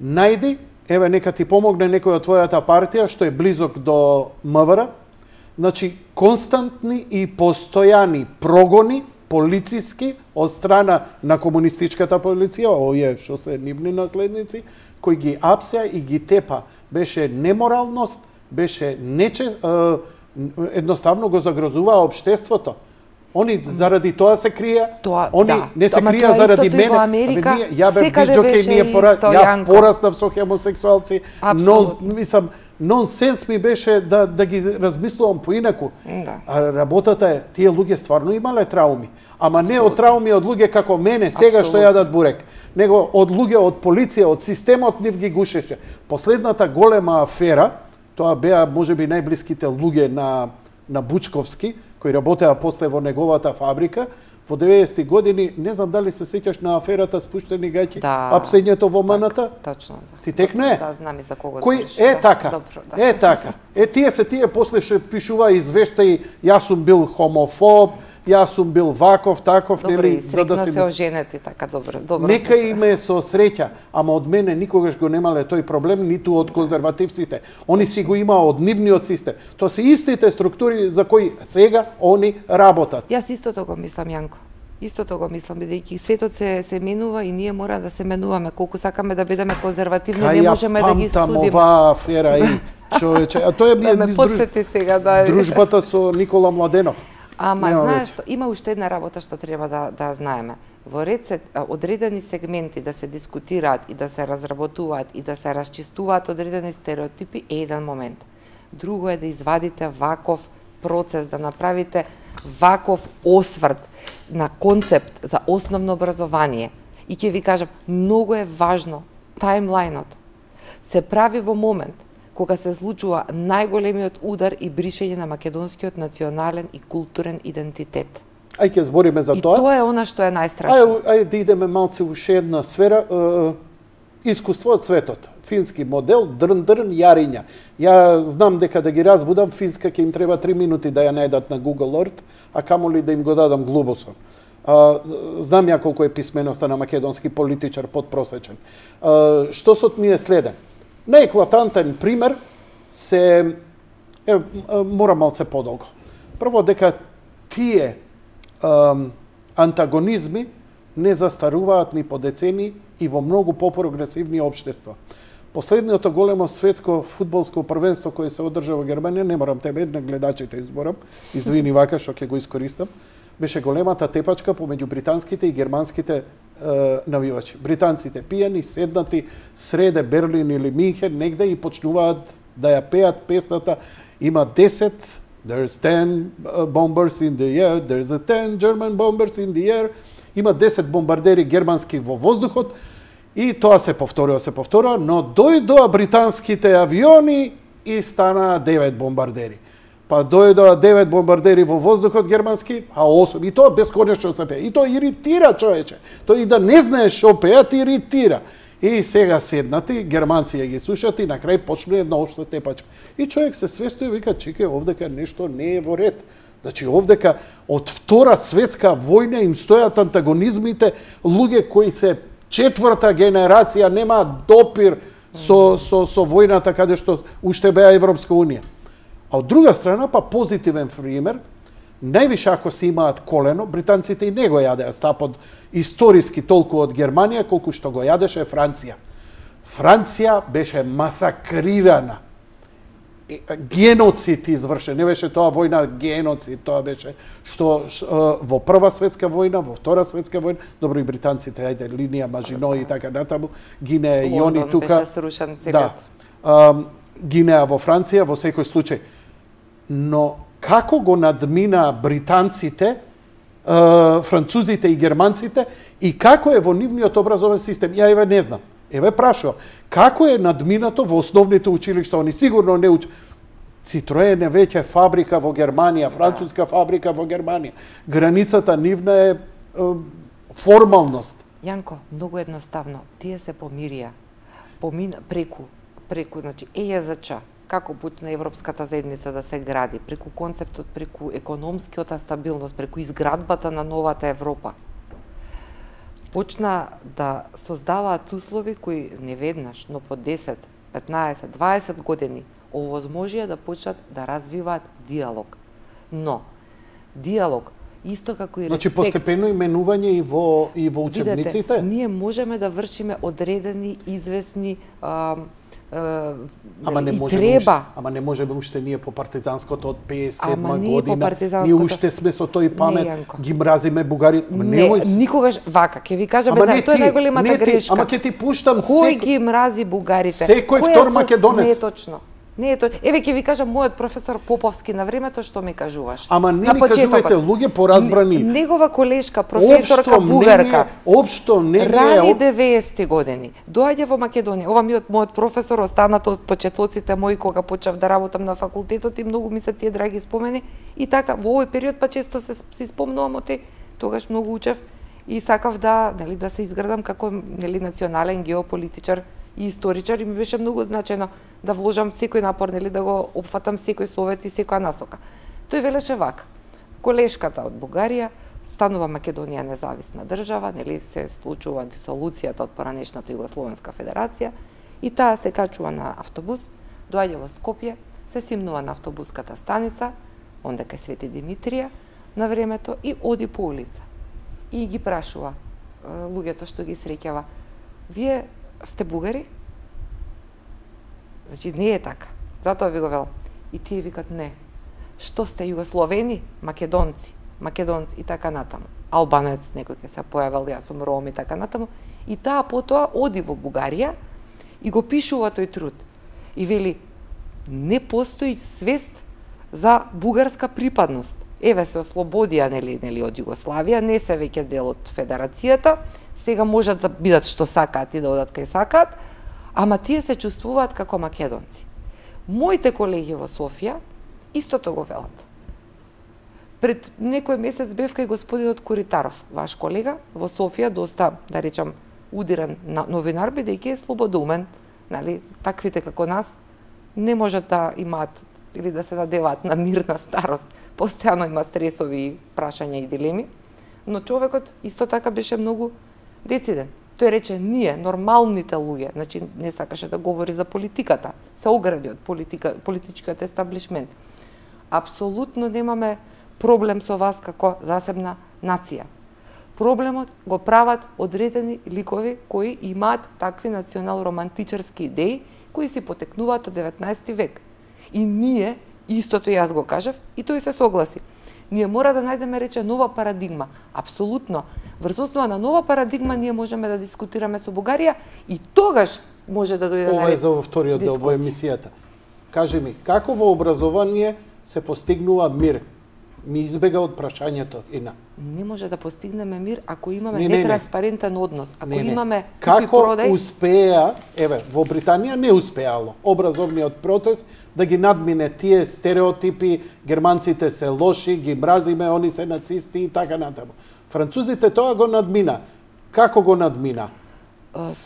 Најди, еве нека ти помогне некој од твојата партија што е близок до МВР. Значи, константни и постојани прогони полициски од страна на комунистичката полиција, овие што се нивни наследници, кои ги апсеа и ги тепа. Беше неморалност, беше нече, едноставно го загрозуваа општеството. Они заради тоа се крија, Тоа, они да. не се Ама крија тоа заради истото и мене. во Америка, Абе, ние, ја бев секаде дисџокеј, беше ние пора, исто, ја Јанко. пораснав со хомосексуалци, но Апсолутно. мислам нонсенс ми беше да да ги размислувам поинаку. Да. А работата е, тие луѓе стварно имале трауми, ама не од трауми од луѓе како мене сега што Апсолутно. јадат бурек, него од луѓе од полиција, од системот нив ги гушеше. Последната голема афера, тоа беа можеби најблиските луѓе на на Бучковски, кои работеа после во неговата фабрика, во деветдесетти години, не знам дали се сеќаш на аферата спуштени гаќи, Да. апсењето во МНТ. Точно, да. Ти текно е? Да, знам и за кого Кој збориш, е да. така? Добро, да. Е така. Е тие се тие после што пишува извештаи, јас сум бил хомофоб, јас сум бил ваков, таков, Добре, нели, и срекно се оженети, така, добро, добро. Нека се- име со среќа, ама од мене никогаш го немале тој проблем, ниту од конзервативците. Они си го имаа од нивниот систем. Тоа се истите структури за кои сега они работат. Јас истото го мислам, Јанко. Истото го мислам, бидејќи светот се се менува и ние мора да се менуваме. Колку сакаме да бидеме конзервативни, не Кај можеме да ги памтам судиме. оваа афера и човече, а тоа е Да ме низ друж- подсети сега, да. дружбата со Никола Младенов. Ама Нема знаеш веќе. што, има уште една работа што треба да да знаеме. Во ред се а, одредени сегменти да се дискутираат и да се разработуваат и да се расчистуваат одредени стереотипи е еден момент. Друго е да извадите ваков процес, да направите ваков осврт на концепт за основно образование, и ќе ви кажам, многу е важно тајмлајнот се прави во момент кога се случува најголемиот удар и бришење на македонскиот национален и културен идентитет. Ај ќе збориме за тоа. И тоа е она што е најстрашно. Ај, ај да идеме малце уште една сфера, е, искуство од светот. Фински модел, дрн-дрн, јариња. Ја знам дека да ги разбудам, финска ќе им треба три минути да ја најдат на Google Earth, а камоли да им го дадам глобусот. А, знам ја колку е писменоста на македонски политичар подпросечен. А, штосот ми е следен. Најеклатантен пример се е, мора малце подолго. Прво дека тие а, антагонизми не застаруваат ни по децени и во многу попрогресивни општества. Последното големо светско фудбалско првенство кое се одржа во Германија, не морам тебе на гледачите изборам, извини вака што ќе го искористам, беше големата тепачка помеѓу британските и германските е, навивачи. Британците пијани, седнати среде Берлин или Минхен, негде и почнуваат да ја пеат песната. Има десет, there's ten bombers in the air, there's a ten German bombers in the air. Има десет бомбардери германски во воздухот и тоа се повторува, се повторува, но дојдоа британските авиони и стана девет бомбардери. Па дојдоа девет бомбардери во воздухот германски, а осум. И тоа бесконечно се пее. И тоа иритира човече. Тоа и да не знаеш што пеат, иритира. И сега седнати, германци ја ги слушат и на крај почну една општа тепачка. И човек се свестои и вика, чекај, овдека нешто не е во ред. Значи, овдека од Втора светска војна им стојат антагонизмите, луѓе кои се четврта генерација, немаат допир со, со, со војната каде што уште беа Европска Унија. А од друга страна, па позитивен пример, највише ако се имаат колено, британците и не го јадеа стапот историски толку од Германија, колку што го јадеше Франција. Франција беше масакрирана. Геноцид извршен, не беше тоа војна геноцид, тоа беше што, што во Прва светска војна, во Втора светска војна, добро и британците, ајде, линија Мажино и така натаму, гинеа и они тука. Лондон беше срушен целиот. Да. Гинеа во Франција во секој случај. Но како го надмина британците, французите и германците и како е во нивниот образовен систем? Ја еве не знам. Еве прашувам, како е надминато во основните училишта? Они сигурно не учат. Citroen е веќе фабрика во Германија, француска фабрика во Германија. Границата нивна е, е формалност. Јанко, многу едноставно. Тие се помирија. Помина преку, преку, значи Е Ја Зо Ч, како почна Европската заедница да се гради, преку концептот, преку економскиот стабилност, преку изградбата на новата Европа. Почна да создаваат услови кои не веднаш, но по десет, петнаесет, дваесет години овозможија да почнат да развиваат диалог. Но диалог исто како и респект. Значи постепено именување и во и во учебниците. Видете, ние можеме да вршиме одредени извесни а, а, ама не и можеме треба. Уште, ама не можеме уште ние по партизанското од пеесет и седма година. Ние уште сме со тој памет, не, ги мразиме бугарите. Не, не, никогаш вака, ќе ви кажам една, тоа е најголемата грешка. Ама ќе ти пуштам Кој секој... ги мрази бугарите? Секој втор македонец. Не е точно. Не е тоа. Еве ќе ви кажам мојот професор Поповски на времето што ми кажуваш. Ама не ми кажувате луѓе поразбрани. Негова колешка, професорка бугарка. Општо не е рани деветесетти години. Доаѓа во Македонија. Ова ми од мојот професор останато од почетоците мои кога почнав да работам на факултетот и многу ми се тие драги спомени. И така во овој период па често се си спомнувам од тој, тогаш многу учев и сакав да, нели, да се изградам како, нели, национален геополитичар и историчар и ми беше многу значајно да вложам секој напор, нели, да го опфатам секој совет и секоја насока. Тој велеше вака: колешката од Бугарија станува Македонија независна држава, нели, се случува дисолуцијата од поранешната Југословенска федерација и таа се качува на автобус, доаѓа во Скопје, се симнува на автобуската станица, онде кај Свети Димитрија на времето и оди по улица. И ги прашува луѓето што ги среќава: вие сте бугари? Значи не е така. Затоа ви го велам. И тие викат не. Што сте југословени? Македонци, македонци и така натаму. Албанец некој ќе се појавил, јас сум ром и така натаму. И таа потоа оди во Бугарија и го пишува тој труд. И вели: не постои свест за бугарска припадност. еве се ослободија нели нели од Југославија, не се веќе дел од федерацијата, сега можат да бидат што сакаат и да одат кај сакаат, ама тие се чувствуваат како македонци. Моите колеги во Софија истото го велат. Пред некој месец бев кај господинот Коритаров, ваш колега, во Софија, доста, да речам, удиран новинар, бидејќи е слободумен, нали, таквите како нас не можат да имаат или да се надеваат на мирна старост. Постојано има стресови, прашања и дилеми, но човекот исто така беше многу дециден. Тој рече, ние, нормалните луѓе, значи не сакаше да говори за политиката, се огради од политика, политичкиот естаблишмент. Апсолутно немаме проблем со вас како засебна нација. Проблемот го прават одредени ликови кои имаат такви национал-романтичарски идеи, кои си потекнуваат од деветнаесети век. И ние, истото јас го кажав, и тој се согласи. Ние мора да најдеме, рече, нова парадигма. Апсолутно. Врз основа на нова парадигма ние можеме да дискутираме со Бугарија и тогаш може да дојде на Ова е за вториот дел во емисијата. Кажи ми, како во образование се постигнува мир? Ми избега од прашањето, Ина. Не може да постигнеме мир ако имаме не, не, нетранспарентен однос, ако не, не. имаме како купи-продај. успеа, еве, во Британија не успеало образовниот процес да ги надмине тие стереотипи, германците се лоши, ги мразиме, они се нацисти и така натаму. Французите тоа го надмина. Како го надмина?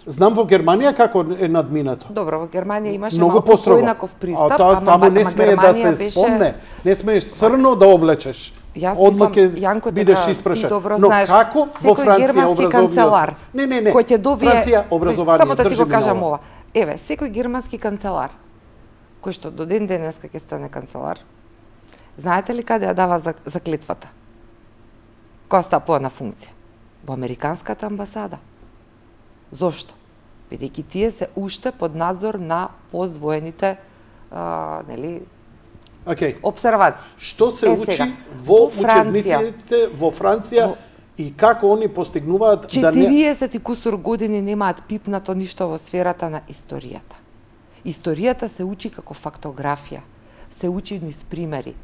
Знам во Германија како е надминато. Добро, во Германија имаше Многу малку поинаков пристап, а, та, ама, таму не ама смее да се беше... спомне, не смееш црно да облечеш. Јас Одма ќе Јанко, бидеш дека испрашан. ти добро Но знаеш, како во Франција образовниот? канцелар, Не, не, не. кој ќе добие Франција образование, само да ти го држи кажам ова. ова. Еве, секој германски канцелар кој што до ден денеска ќе стане канцелар, знаете ли каде ја дава заклетвата? Кога стапува на функција? Во американската амбасада. Зошто? Бидејќи тие се уште под надзор на поствоените а, нели, okay. обсервации. Што се е, учи сега, во, во Франција, учебниците во Франција во... и како они постигнуваат да не... четириесет и кусур години немаат пипнато ништо во сферата на историјата. Историјата се учи како фактографија, се учи низ примери,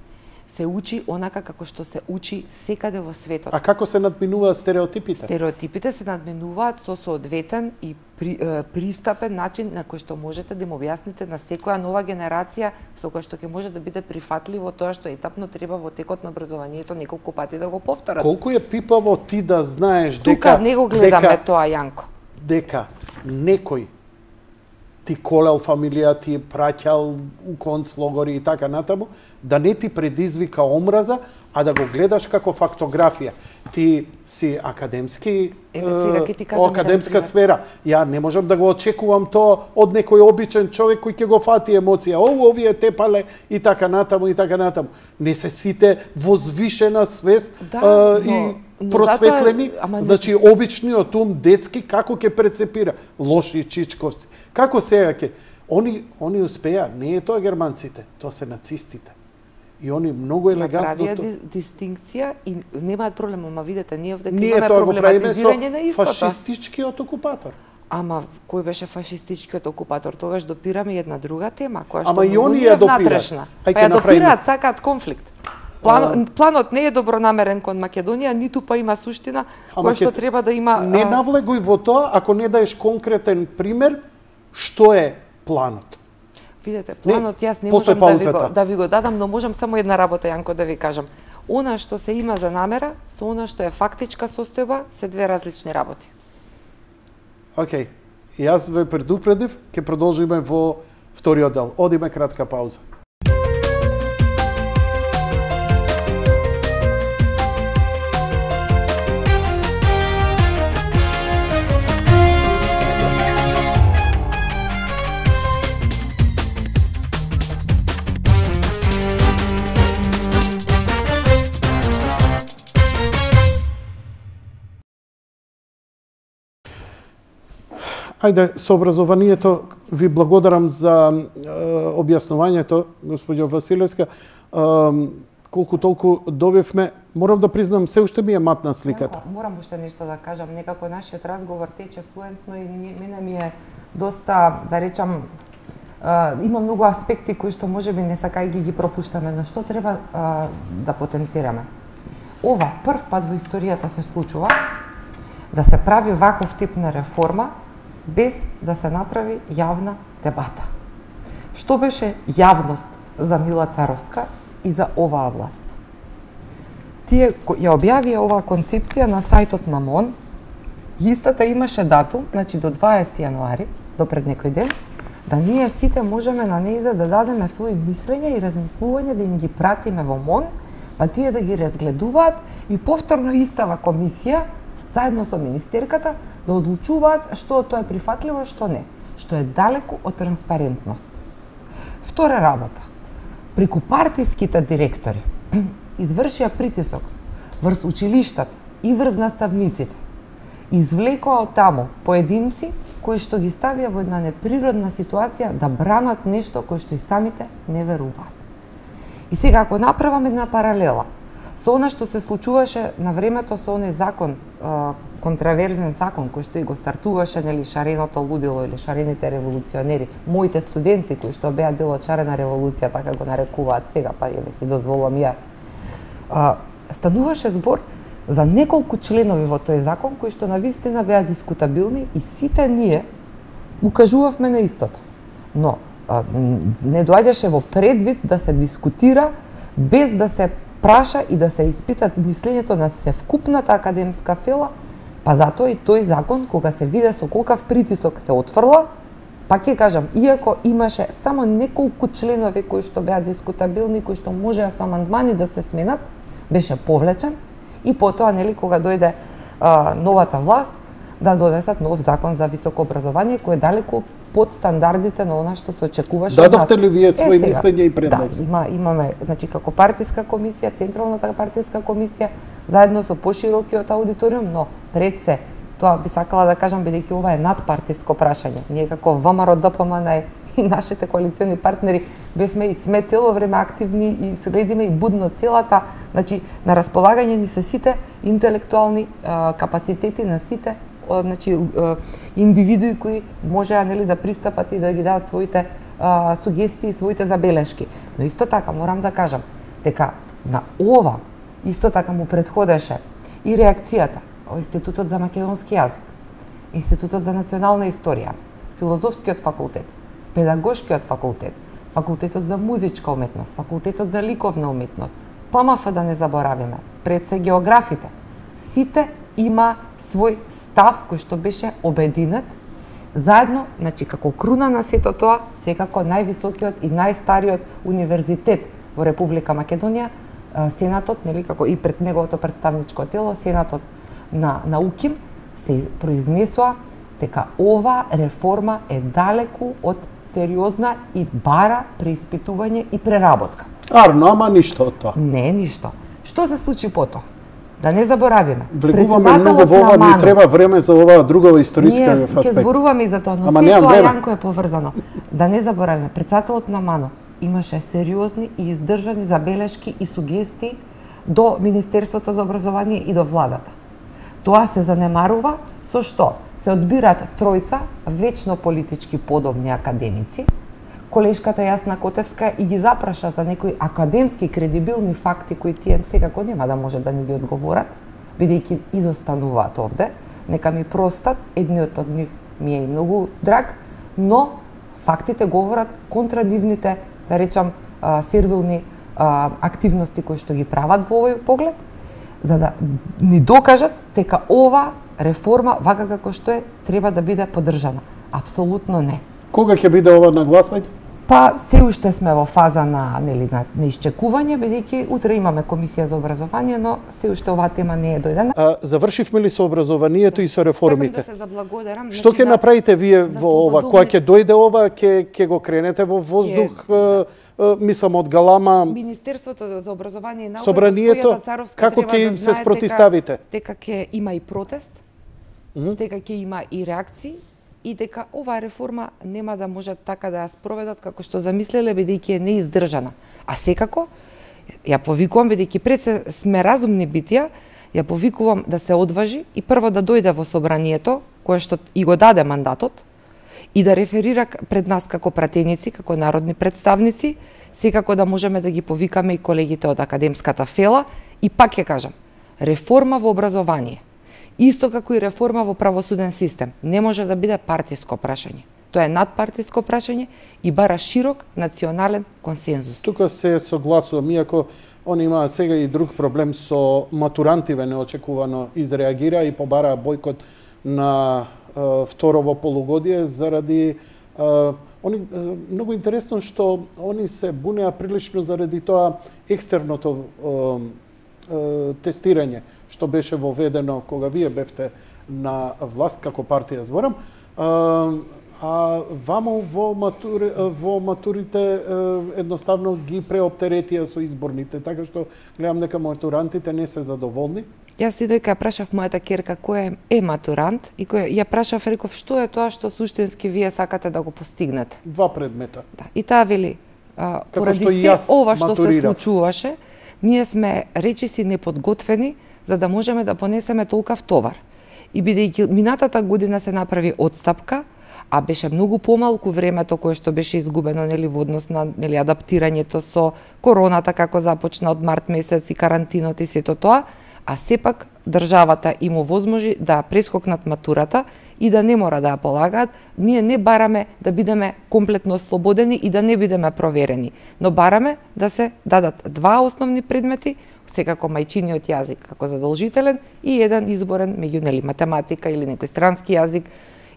се учи онака како што се учи секаде во светот. А како се надминуваат стереотипите? Стереотипите се надминуваат со соодветен и при, е, пристапен начин на кој што можете да им објасните на секоја нова генерација со која што ќе може да биде прифатливо тоа што етапно треба во текот на образованието неколку пати да го повторат. Колку е пипаво ти да знаеш дека... Тука не го гледаме дека, тоа, Јанко. Дека некој ти колел фамилија, ти праќал у концлогори и така натаму, да не ти предизвика омраза, а да го гледаш како фактографија. Ти си академски, Еве, сега ќе ти кажам академска сфера. Ја не можам да го очекувам тоа од некој обичен човек кој ќе го фати емоција. О, овие тепале и така натаму и така натаму. Не се сите возвишена свест да, а, но... и просветлени, Ама, значи обичниот ум детски како ќе прецепира лоши чичковци. Како сега ќе они они успеа, не е тоа германците, тоа се нацистите. И они многу елегантно направија ди, дистинкција и немаат проблем, ама видете, ние овде ние имаме тоа го правиме проблематизирање на со истото. фашистичкиот окупатор. Ама кој беше фашистичкиот окупатор? Тогаш допираме една друга тема, која што Ама и многу они ни ја е допираат. внатрешна. Ај Па ќе ја направиме. допираат, сакаат конфликт. План, планот не е добронамерен кон Македонија, ниту па има суштина Ама која што ќе- треба да има... Не а, навлегуј во тоа ако не даеш конкретен пример што е планот. Видете, планот јас не после можам да ви, го, паузата. да ви го дадам, но можам само една работа, Јанко, да ви кажам. Она што се има за намера, со она што е фактичка состојба, се две различни работи. Океј. Јас ве предупредив, ќе продолжиме во вториот дел. Одиме кратка пауза. Ајде, со образованието ви благодарам за е, објаснувањето, господјо Василевска. Е, колку толку добивме, морам да признам, се уште ми е матна сликата. Јанко, морам уште нешто да кажам. Некако нашиот разговор тече флуентно и ни- мене ми е доста, да речам, а, има многу аспекти кои што можеби не сакај ги ги пропуштаме, но што треба а, да потенцираме? Ова прв пат во историјата се случува да се прави ваков тип на реформа без да се направи јавна дебата. Што беше јавност за Мила Царовска и за оваа власт? Тие ја објавија оваа концепција на сајтот на МОН. Истата имаше датум, значи до дваесети јануари, до пред некој ден, да ние сите можеме на неиза да дадеме своји мислења и размислувања, да им ги пратиме во МОН, па тие да ги разгледуваат и повторно истава комисија, заедно со министерката, да одлучуваат што тоа е прифатливо, што не, што е далеку од транспарентност. Втора работа. Преку партиските директори извршија притисок врз училиштата и врз наставниците. Извлекоа од таму поединци кои што ги ставија во една неприродна ситуација да бранат нешто кој што и самите не веруваат. И сега, ако направам една паралела со она што се случуваше на времето со оној закон, контраверзен закон кој што и го стартуваше, нели, шареното лудило или шарените револуционери, моите студенти кои што беа дел од шарена револуција, така го нарекуваат сега, па ја си дозволувам јас. Стануваше збор за неколку членови во тој закон кои што навистина беа дискутабилни и сите ние укажувавме на истото. Но а, не доаѓаше во предвид да се дискутира без да се праша и да се испитат мислењето на севкупната академска фела, па затоа и тој закон, кога се виде со колкав притисок се отфрла, пак ќе кажам, иако имаше само неколку членови кои што беа дискутабилни, кои што можеа со амандмани да се сменат, беше повлечен и потоа, нели, кога дојде а, новата власт, да донесат нов закон за високо образование, кој е далеку под стандардите на она што се очекуваше од нас. Дадовте ли вие своји мислења и предлози? Да, има, имаме, значи, како партиска комисија, Централната партиска комисија, заедно со поширокиот аудиториум, но пред се, тоа би сакала да кажам, бидејќи ова е надпартиско прашање. Ние како ВМРО Д П М Н и нашите коалициони партнери бевме и сме цело време активни и следиме и будно целата, значи, на располагање ни се сите интелектуални а, капацитети на сите, значи, индивидуи кои можеа, нели, да пристапат и да ги дадат своите а, сугестии, своите забелешки. Но исто така морам да кажам дека на ова исто така му предходеше и реакцијата од Институтот за македонски јазик, Институтот за национална историја, Филозофскиот факултет, Педагошкиот факултет, Факултетот за музичка уметност, Факултетот за ликовна уметност, П М Ф да не заборавиме, пред се географите. Сите има свој став кој што беше обединет заедно, значи како круна на сето тоа, секако највисокиот и најстариот универзитет во Република Македонија, Сенатот, нели, како и пред неговото представничко тело, Сенатот на на УКИМ, се произнесоа дека ова реформа е далеку од сериозна и бара преиспитување и преработка. Арно, ама ништо од тоа. Не, ништо. Што се случи потоа? Да не заборавиме. Влегуваме многу во ова, ни треба време за оваа друга историска аспект. Ние ќе зборуваме и за тоа, но се тоа Јанко е поврзано. Да не заборавиме, председателот на МАНО имаше сериозни и издржани забелешки и сугестии до Министерството за образование и до владата. Тоа се занемарува со што се одбираат тројца вечно политички подобни академици. Колешката Јасна Котевска и ги запраша за некои академски кредибилни факти кои тие секако нема да може да ни ги одговорат, бидејќи изостануваат овде. Нека ми простат, едниот од нив ми е и многу драг, но фактите говорат контра нивните, да речам, сервилни активности кои што ги прават во овој поглед, за да ни докажат дека ова реформа, вака како што е, треба да биде поддржана. Апсолутно не. Кога ќе биде ова на гласање? Па се уште сме во фаза на, нели, на, на исчекување, бидејќи утре имаме комисија за образование, но се уште оваа тема не е дојдена. А, завршивме ли со образованието и со реформите? Сакам да се заблагодарам. Што ќе да, направите вие да во ова? Кога ќе дојде ова, ќе ќе го кренете во воздух, Ке... мислам од галама? Министерството за образование и наука, Собранието, како ќе им да се спротиставите? Дека ќе има и протест, mm -hmm. дека ќе има и реакции, и дека оваа реформа нема да можат така да ја спроведат како што замислеле, бидејќи е неиздржана. А секако, ја повикувам, бидејќи пред се сме разумни битија, ја повикувам да се одважи и прво да дојде во собранието, кое што и го даде мандатот, и да реферира пред нас како пратеници, како народни представници, секако да можеме да ги повикаме и колегите од академската фела. И пак ќе кажам, реформа во образование, исто како и реформа во правосуден систем, не може да биде партиско прашање. Тоа е надпартиско прашање и бара широк национален консензус. Тука се согласувам, иако они имаат сега и друг проблем со матурантиве, неочекувано изреагира и побараа бојкот на е, второво полугодие заради е, они е, многу интересно што они се бунеа прилично заради тоа екстерното е, е, тестирање што беше воведено кога вие бевте на власт како партија, зборам. Е, А вамо во, матури, во матурите едноставно ги преоптеретија со изборните, така што гледам дека матурантите не се задоволни. Јас и дојка ја прашав мојата керка кој е матурант и кој ја прашав, реков што е тоа што суштински вие сакате да го постигнете. Два предмета. Да, и таа вели, а, поради што се ова што матурирав. се случуваше, ние сме речиси неподготвени за да можеме да понесеме толкав товар. И бидејќи минатата година се направи отстапка, а беше многу помалку времето кое што беше изгубено нели во однос на нели адаптирањето со короната како започна од март месец и карантинот и сето тоа, а сепак државата им овозможи да прескокнат матурата и да не мора да ја полагаат. Ние не бараме да бидеме комплетно ослободени и да не бидеме проверени, но бараме да се дадат два основни предмети, секако мајчиниот јазик како задолжителен и еден изборен меѓу нели математика или некој странски јазик.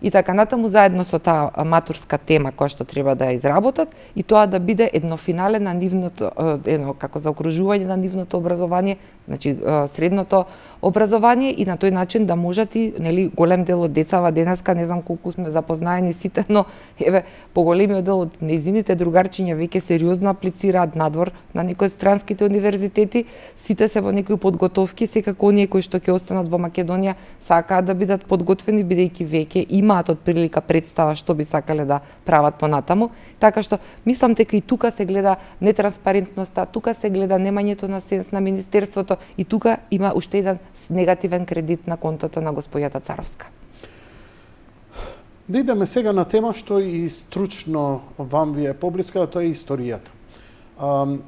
И така натаму заедно со таа матурска тема која што треба да ја изработат и тоа да биде едно финале на нивното, едно како заокружување на нивното образование, значи средното образование и на тој начин да можат и нели голем дел од децава денеска, не знам колку сме запознаени сите, но еве поголемиот дел од нејзините другарчиња веќе сериозно аплицираат надвор на некои странските универзитети, сите се во некои подготовки, секако оние кои што ќе останат во Македонија сакаат да бидат подготвени бидејќи веќе имаат од прилика представа што би сакале да прават понатаму, така што мислам дека и тука се гледа нетранспарентноста, тука се гледа немањето на сенс на министерството и тука има уште еден негативен кредит на контото на господјата Царовска. Да идеме сега на тема што и стручно вам ви е поблиска, тоа е историјата. Um,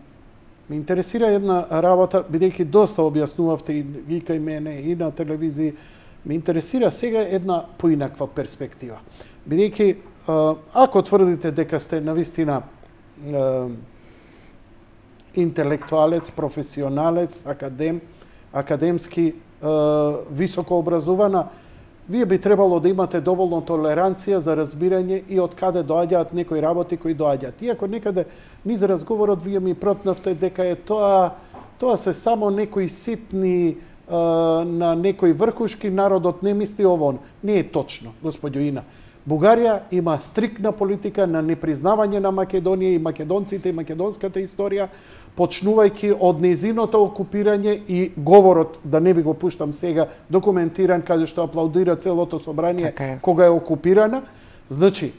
ме интересира една работа, бидејќи доста објаснувавте и ви кај мене и на телевизија, ме интересира сега една поинаква перспектива. Бидејќи, ако тврдите дека сте навистина интелектуалец, професионалец, академ, академски високо образована, вие би требало да имате доволно толеранција за разбирање и од каде доаѓаат некои работи кои доаѓаат. Иако некаде низ разговорот вие ми протнавте дека е тоа тоа се само некои ситни на некои врхушки, народот не мисли ово. Не е точно, господјо Ина. Бугарија има стрикна политика на непризнавање на Македонија и македонците и македонската историја, почнувајќи од нејзиното окупирање и говорот, да не ви го пуштам сега, документиран, каде што аплаудира целото собрание така е. Кога е окупирана. Значи,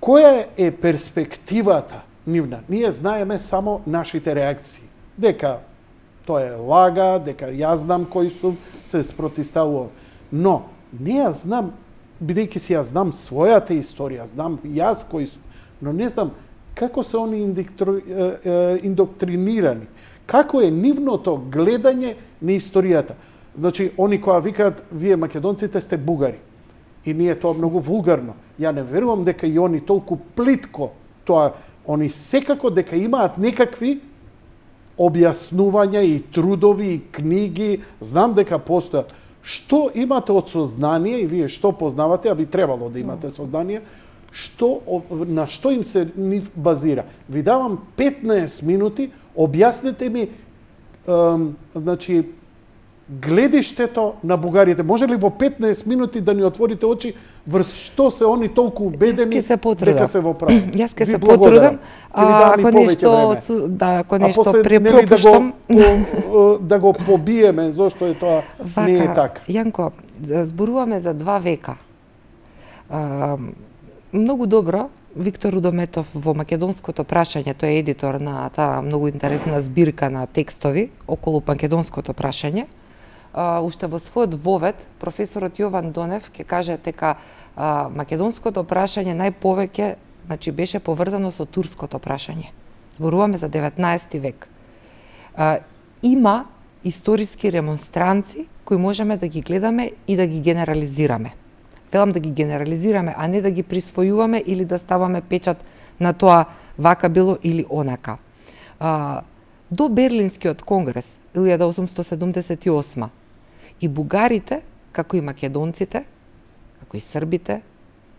која е перспективата нивна? Ние знаеме само нашите реакции. Дека тоа е лага, дека јас знам кој сум, се спротиставувам. Но, не ја знам, бидејќи си ја знам својата историја, знам јас кој сум, но не знам како се они индоктринирани, како е нивното гледање на историјата. Значи, они која викаат, вие македонците сте бугари. И ние тоа многу вулгарно. Ја не верувам дека и они толку плитко тоа, они секако дека имаат некакви објаснувања и трудови и книги, знам дека постојат. Што имате од сознание и вие што познавате, а би требало да имате сознание, што на што им се нив базира? Ви давам петнаесет минути, објаснете ми ем, значи гледиштето на бугарите. Може ли во петнаесет минути да ни отворите очи врз што се они толку убедени се дека се во право? Јас ќе се потрудам, ако нешто, да, ако нешто препропуштам. Да, го, да го побиеме, зошто е тоа Вака, не е така. Јанко, зборуваме за два века. А, многу добро, Виктор Рудометов во Македонското прашање, тој е едитор на таа многу интересна збирка на текстови околу Македонското прашање, Uh, уште во својот вовед, професорот Јован Донев ќе каже дека а, македонското прашање најповеќе, значи, беше поврзано со турското прашање. Зборуваме за деветнаесети век. А, има историски ремонстранци кои можеме да ги гледаме и да ги генерализираме. Велам да ги генерализираме, а не да ги присвојуваме или да ставаме печат на тоа вака било или онака. А, до Берлинскиот конгрес илјада осумстотини седумдесет и осма и бугарите, како и македонците, како и србите,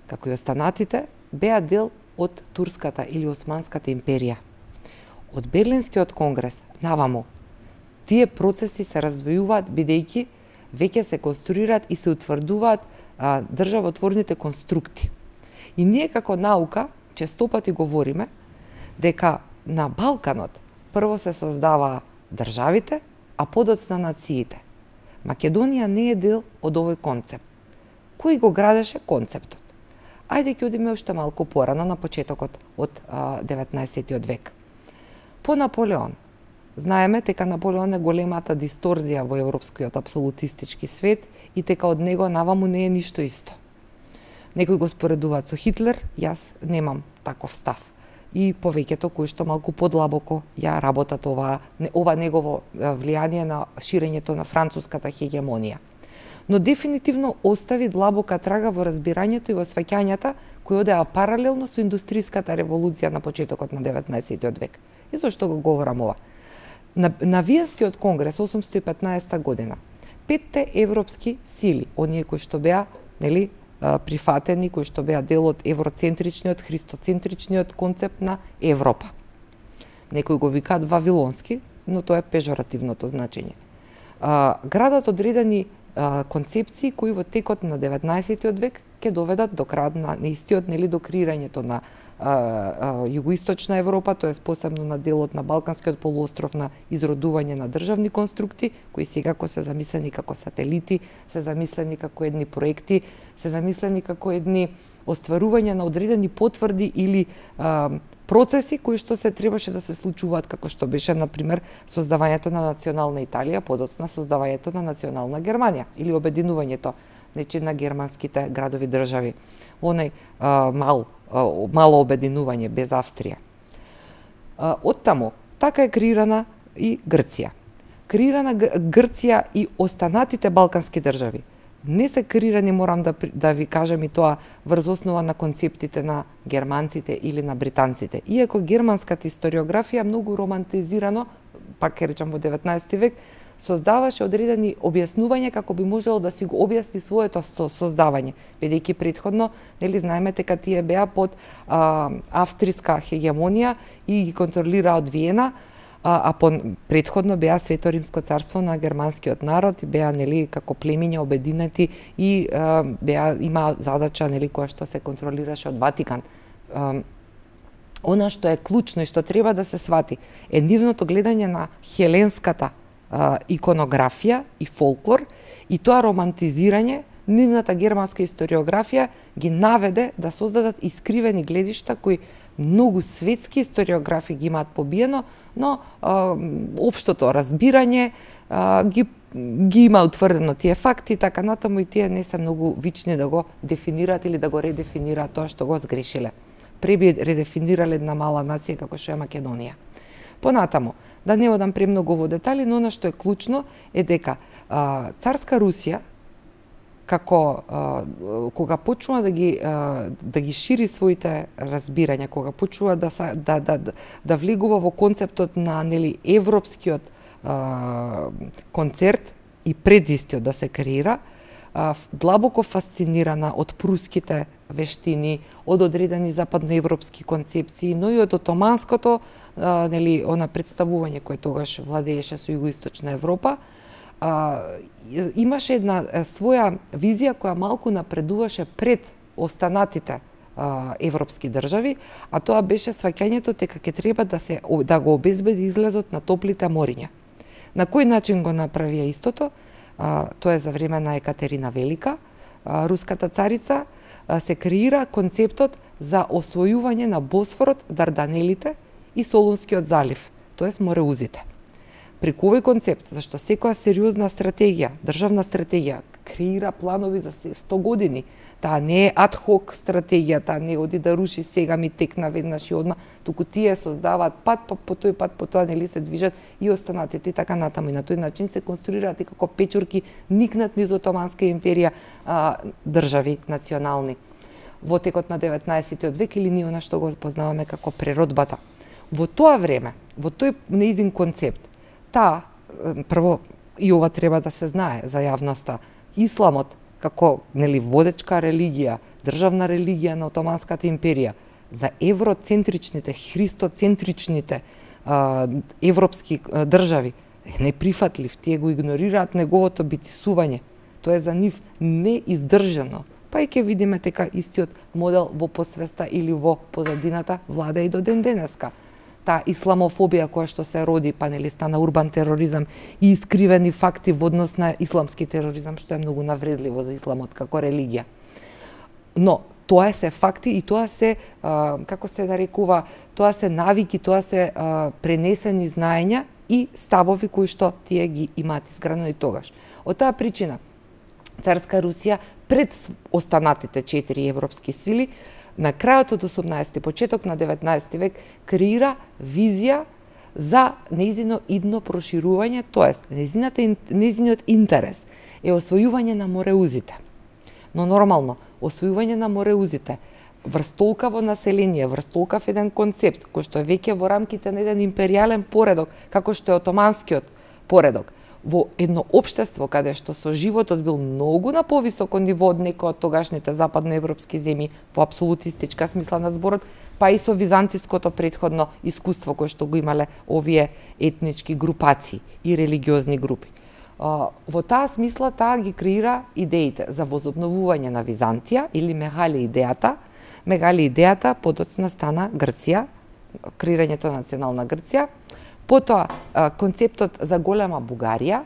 како и останатите, беа дел од Турската или Османската империја. Од Берлинскиот конгрес наваму тие процеси се раздвојуваат бидејќи веќе се конструираат и се утврдуваат а, државотворните конструкти. И ние како наука честопати говориме дека на Балканот прво се создаваа државите, а подоцна нациите. Македонија не е дел од овој концепт. Кој го градеше концептот? Ајде ќе одиме уште малку порано на почетокот од а, деветнаесеттиот век. По Наполеон. Знаеме дека Наполеон е големата дисторзија во европскиот апсолутистички свет и дека од него наваму не е ништо исто. Некои го споредуваат со Хитлер, јас немам таков став. И повеќето кои што малку подлабоко ја работат ова, ова негово влијание на ширењето на француската хегемонија. Но дефинитивно остави длабока трага во разбирањето и во сваќањата кои одеа паралелно со индустријската револуција на почетокот на деветнаесеттиот век. И зошто го говорам ова? На, на Виенскиот конгрес осумстотини и петнаесетта година, петте европски сили, оние кои што беа, нели, прифатени, кои што беа дел од евроцентричниот, христоцентричниот концепт на Европа. Некои го викаат вавилонски, но тоа е пежоративното значење. А, градат одредени а, концепции кои во текот на деветнаесеттиот век ќе доведат до крај на истиот, нели, до креирањето на а, а, југоисточна Европа, тоест посебно на делот на Балканскиот полуостров, на изродување на државни конструкти, кои секако се замислени како сателити, се замислени како едни проекти, се замислени како едни остварување на одредени потврди или а, процеси кои што се требаше да се случуваат, како што беше, например, создавањето на национална Италија, подоцна создавањето на национална Германија или обединувањето, значи, на германските градови држави. Онај а, мал, а, мало обединување без Австрија. А, оттаму, така е креирана и Грција. Креирана Грција и останатите балкански држави не се креирани, морам да, да ви кажам и тоа, врз основа на концептите на германците или на британците. Иако германската историографија многу романтизирано, пак ќе речам во деветнаесети век, создаваше одредени објаснувања како би можело да си го објасни своето создавање, бидејќи претходно, нели, знаеме дека тие беа под а, австријска хегемонија и ги контролира од Виена, а, а по, претходно беа Свето Римско царство на германскиот народ и беа, нели, како племиња обединети и а, беа има задача, нели, која што се контролираше од Ватикан. А, она што е клучно и што треба да се свати е нивното гледање на хеленската а, иконографија и фолклор и тоа романтизирање. Нивната германска историографија ги наведе да создадат искривени гледишта кои многу светски историографи ги имаат побиено, но а, општото разбирање а, ги, ги има утврдено тие факти, така натаму и тие не се многу вични да го дефинираат или да го редефинираат тоа што го сгрешиле. Преби редефинирале една мала нација како што е Македонија. Понатаму, да не одам премногу во детали, но она што е клучно е дека а, царска Русија, како а, кога почнува да ги а, да ги шири своите разбирања, кога почнува да да да да влегува во концептот на, нели, европскиот а, концерт и пред истиот да се креира, а, длабоко фасцинирана од пруските вештини, од одредени западноевропски концепции, но и од отоманското, а, нели, она представување кое тогаш владееше со југоисточна Европа. А, имаше една своја визија која малку напредуваше пред останатите а, европски држави, а тоа беше сваќањето дека ќе треба да се да го обезбеди излезот на топлите мориња. На кој начин го направија истото? А, тоа е за време на Екатерина Велика, а, руската царица, а, се креира концептот за освојување на Босфорот, Дарданелите и Солунскиот залив, тоест мореузите. Преку овој концепт, зашто секоја сериозна стратегија, државна стратегија, креира планови за сто години Таа не е адхок стратегија, таа не оди да руши сега ми текна веднаш и одма, туку тие создаваат пат, па по тој пат, по тоа нели се движат и останатите и така натаму. И на тој начин се конструираат и како печурки никнат низ Отоманска империја а, држави национални. Во текот на деветнаесеттиот век или ние она што го познаваме како преродбата. Во тоа време, во тој неизин концепт, таа, прво, и ова треба да се знае за јавноста, исламот како нели водечка религија, државна религија на Отоманската империја, за евроцентричните, христоцентричните а, европски а, држави е неприфатлив, тие го игнорираат неговото битисување. Тоа е за нив неиздржано. Па и ќе видиме дека истиот модел во посвеста или во позадината влада и до ден денеска. Таа исламофобија која што се роди, па нели стана урбан тероризам и искривени факти во однос на исламски тероризам, што е многу навредливо за исламот како религија. Но тоа се факти и тоа се, а, како се нарекува, тоа се навики, тоа се а, пренесени знаења и ставови кои што тие ги имаат изградено и тогаш. Од таа причина, Царска Русија пред останатите четири европски сили, на крајот од осумнаесети, почеток на деветнаесети век, креира визија за нејзино идно проширување, тоест нејзиниот интерес е освојување на мореузите. Но нормално, освојување на мореузите врз толкаво население, врз толкав еден концепт, кој што е веќе во рамките на еден империјален поредок, како што е отоманскиот поредок, во едно општество каде што со животот бил многу на повисоко ниво од некој од тогашните западноевропски земји во апсолутистичка смисла на зборот, па и со византиското претходно искуство кое што го имале овие етнички групации и религиозни групи. Во таа смисла таа ги креира идеите за возобновување на Византија или Мегали идејата. Мегали идејата подоцна стана Грција, креирањето на национална Грција. Потоа концептот за голема Бугарија,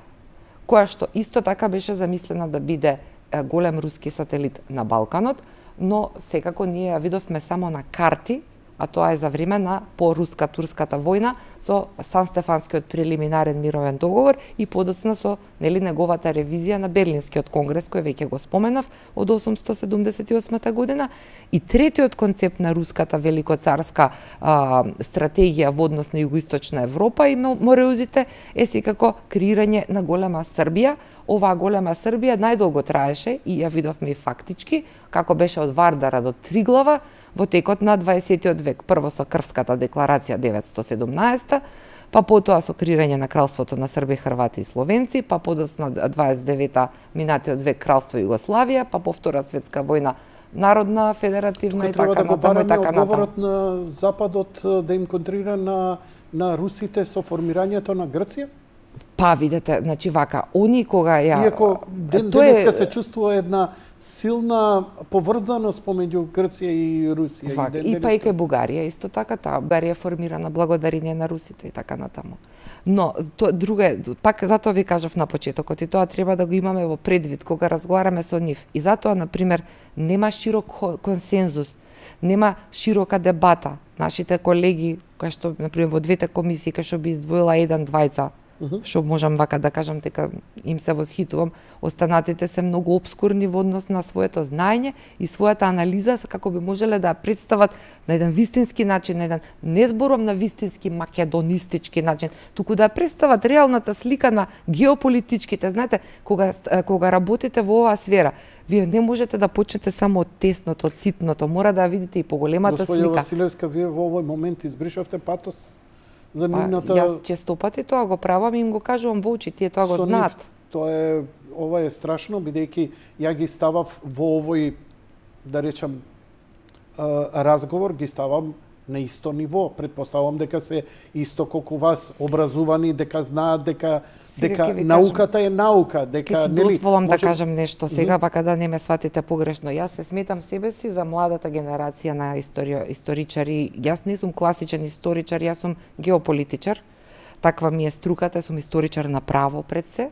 која што исто така беше замислена да биде голем руски сателит на Балканот, но секако ние ја видовме само на карти, а тоа е за време на по-руска-турската војна со Сан-Стефанскиот прелиминарен мировен договор и подоцна со нели неговата ревизија на Берлинскиот конгрес кој веќе го споменав од осумстотини седумдесет и осма година. И третиот концепт на руската великоцарска а, стратегија во однос на југоисточна Европа и мореузите е секако креирање на голема Србија. Оваа голема Србија најдолго траеше и ја видовме и фактички, како беше од Вардара до Триглава во текот на дваесеттиот век. Прво со Крвската декларација деветстотини и седумнаесета, па потоа со креирање на кралството на Срби, Хрвати и Словенци, па подоцна дваесет и девета минатиот век кралство Југославија, па по Втора светска војна народна, федеративна и така натаму и така натаму. Одговорот на Западот да им контрира на на русите со формирањето на Грција? Па, видете, значи вака, они кога ја... Иако ден денеска се чувствува една силна поврзаност помеѓу Грција и Русија. Вака, и, и па и кај Бугарија, исто така, таа Бугарија е формирана благодарение на русите и така натаму. Но, то, друга, пак затоа ви кажав на почетокот и тоа треба да го имаме во предвид кога разговараме со нив. И затоа, например, нема широк консензус, нема широка дебата. Нашите колеги, кои што, например, во двете комисии, кај што би издвоила еден, двајца, што можам вака да кажам дека им се восхитувам, останатите се многу обскурни во однос на своето знаење и својата анализа како би можеле да представат на еден вистински начин, на еден не зборам на вистински македонистички начин, туку да представат реалната слика на геополитичките. Знаете, кога кога работите во оваа сфера, вие не можете да почнете само од тесното, од ситното, мора да видите и поголемата слика. Господја Василевска, вие во овој момент избришавте патос за нивната... Па, јас често пати тоа го правам и им го кажувам во очи, тие тоа го знаат. Тоа е, ова е страшно, бидејќи ја ги ставав во овој, да речам, разговор, ги ставам на исто ниво. Предпоставам дека се исто колку вас образувани, дека знаат дека дека науката кажем, е наука, дека нели... Ке си дозволам може... да кажам нешто сега, вака да не ме сватите погрешно. Јас се сметам себе си за младата генерација на историја, историчари. Јас не сум класичен историчар, јас сум геополитичар. Таква ми е струката, сум историчар на право пред се.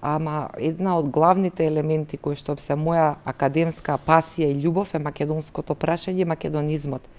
Ама една од главните елементи кои што се моја академска пасија и љубов е македонското прашање, македонизмот.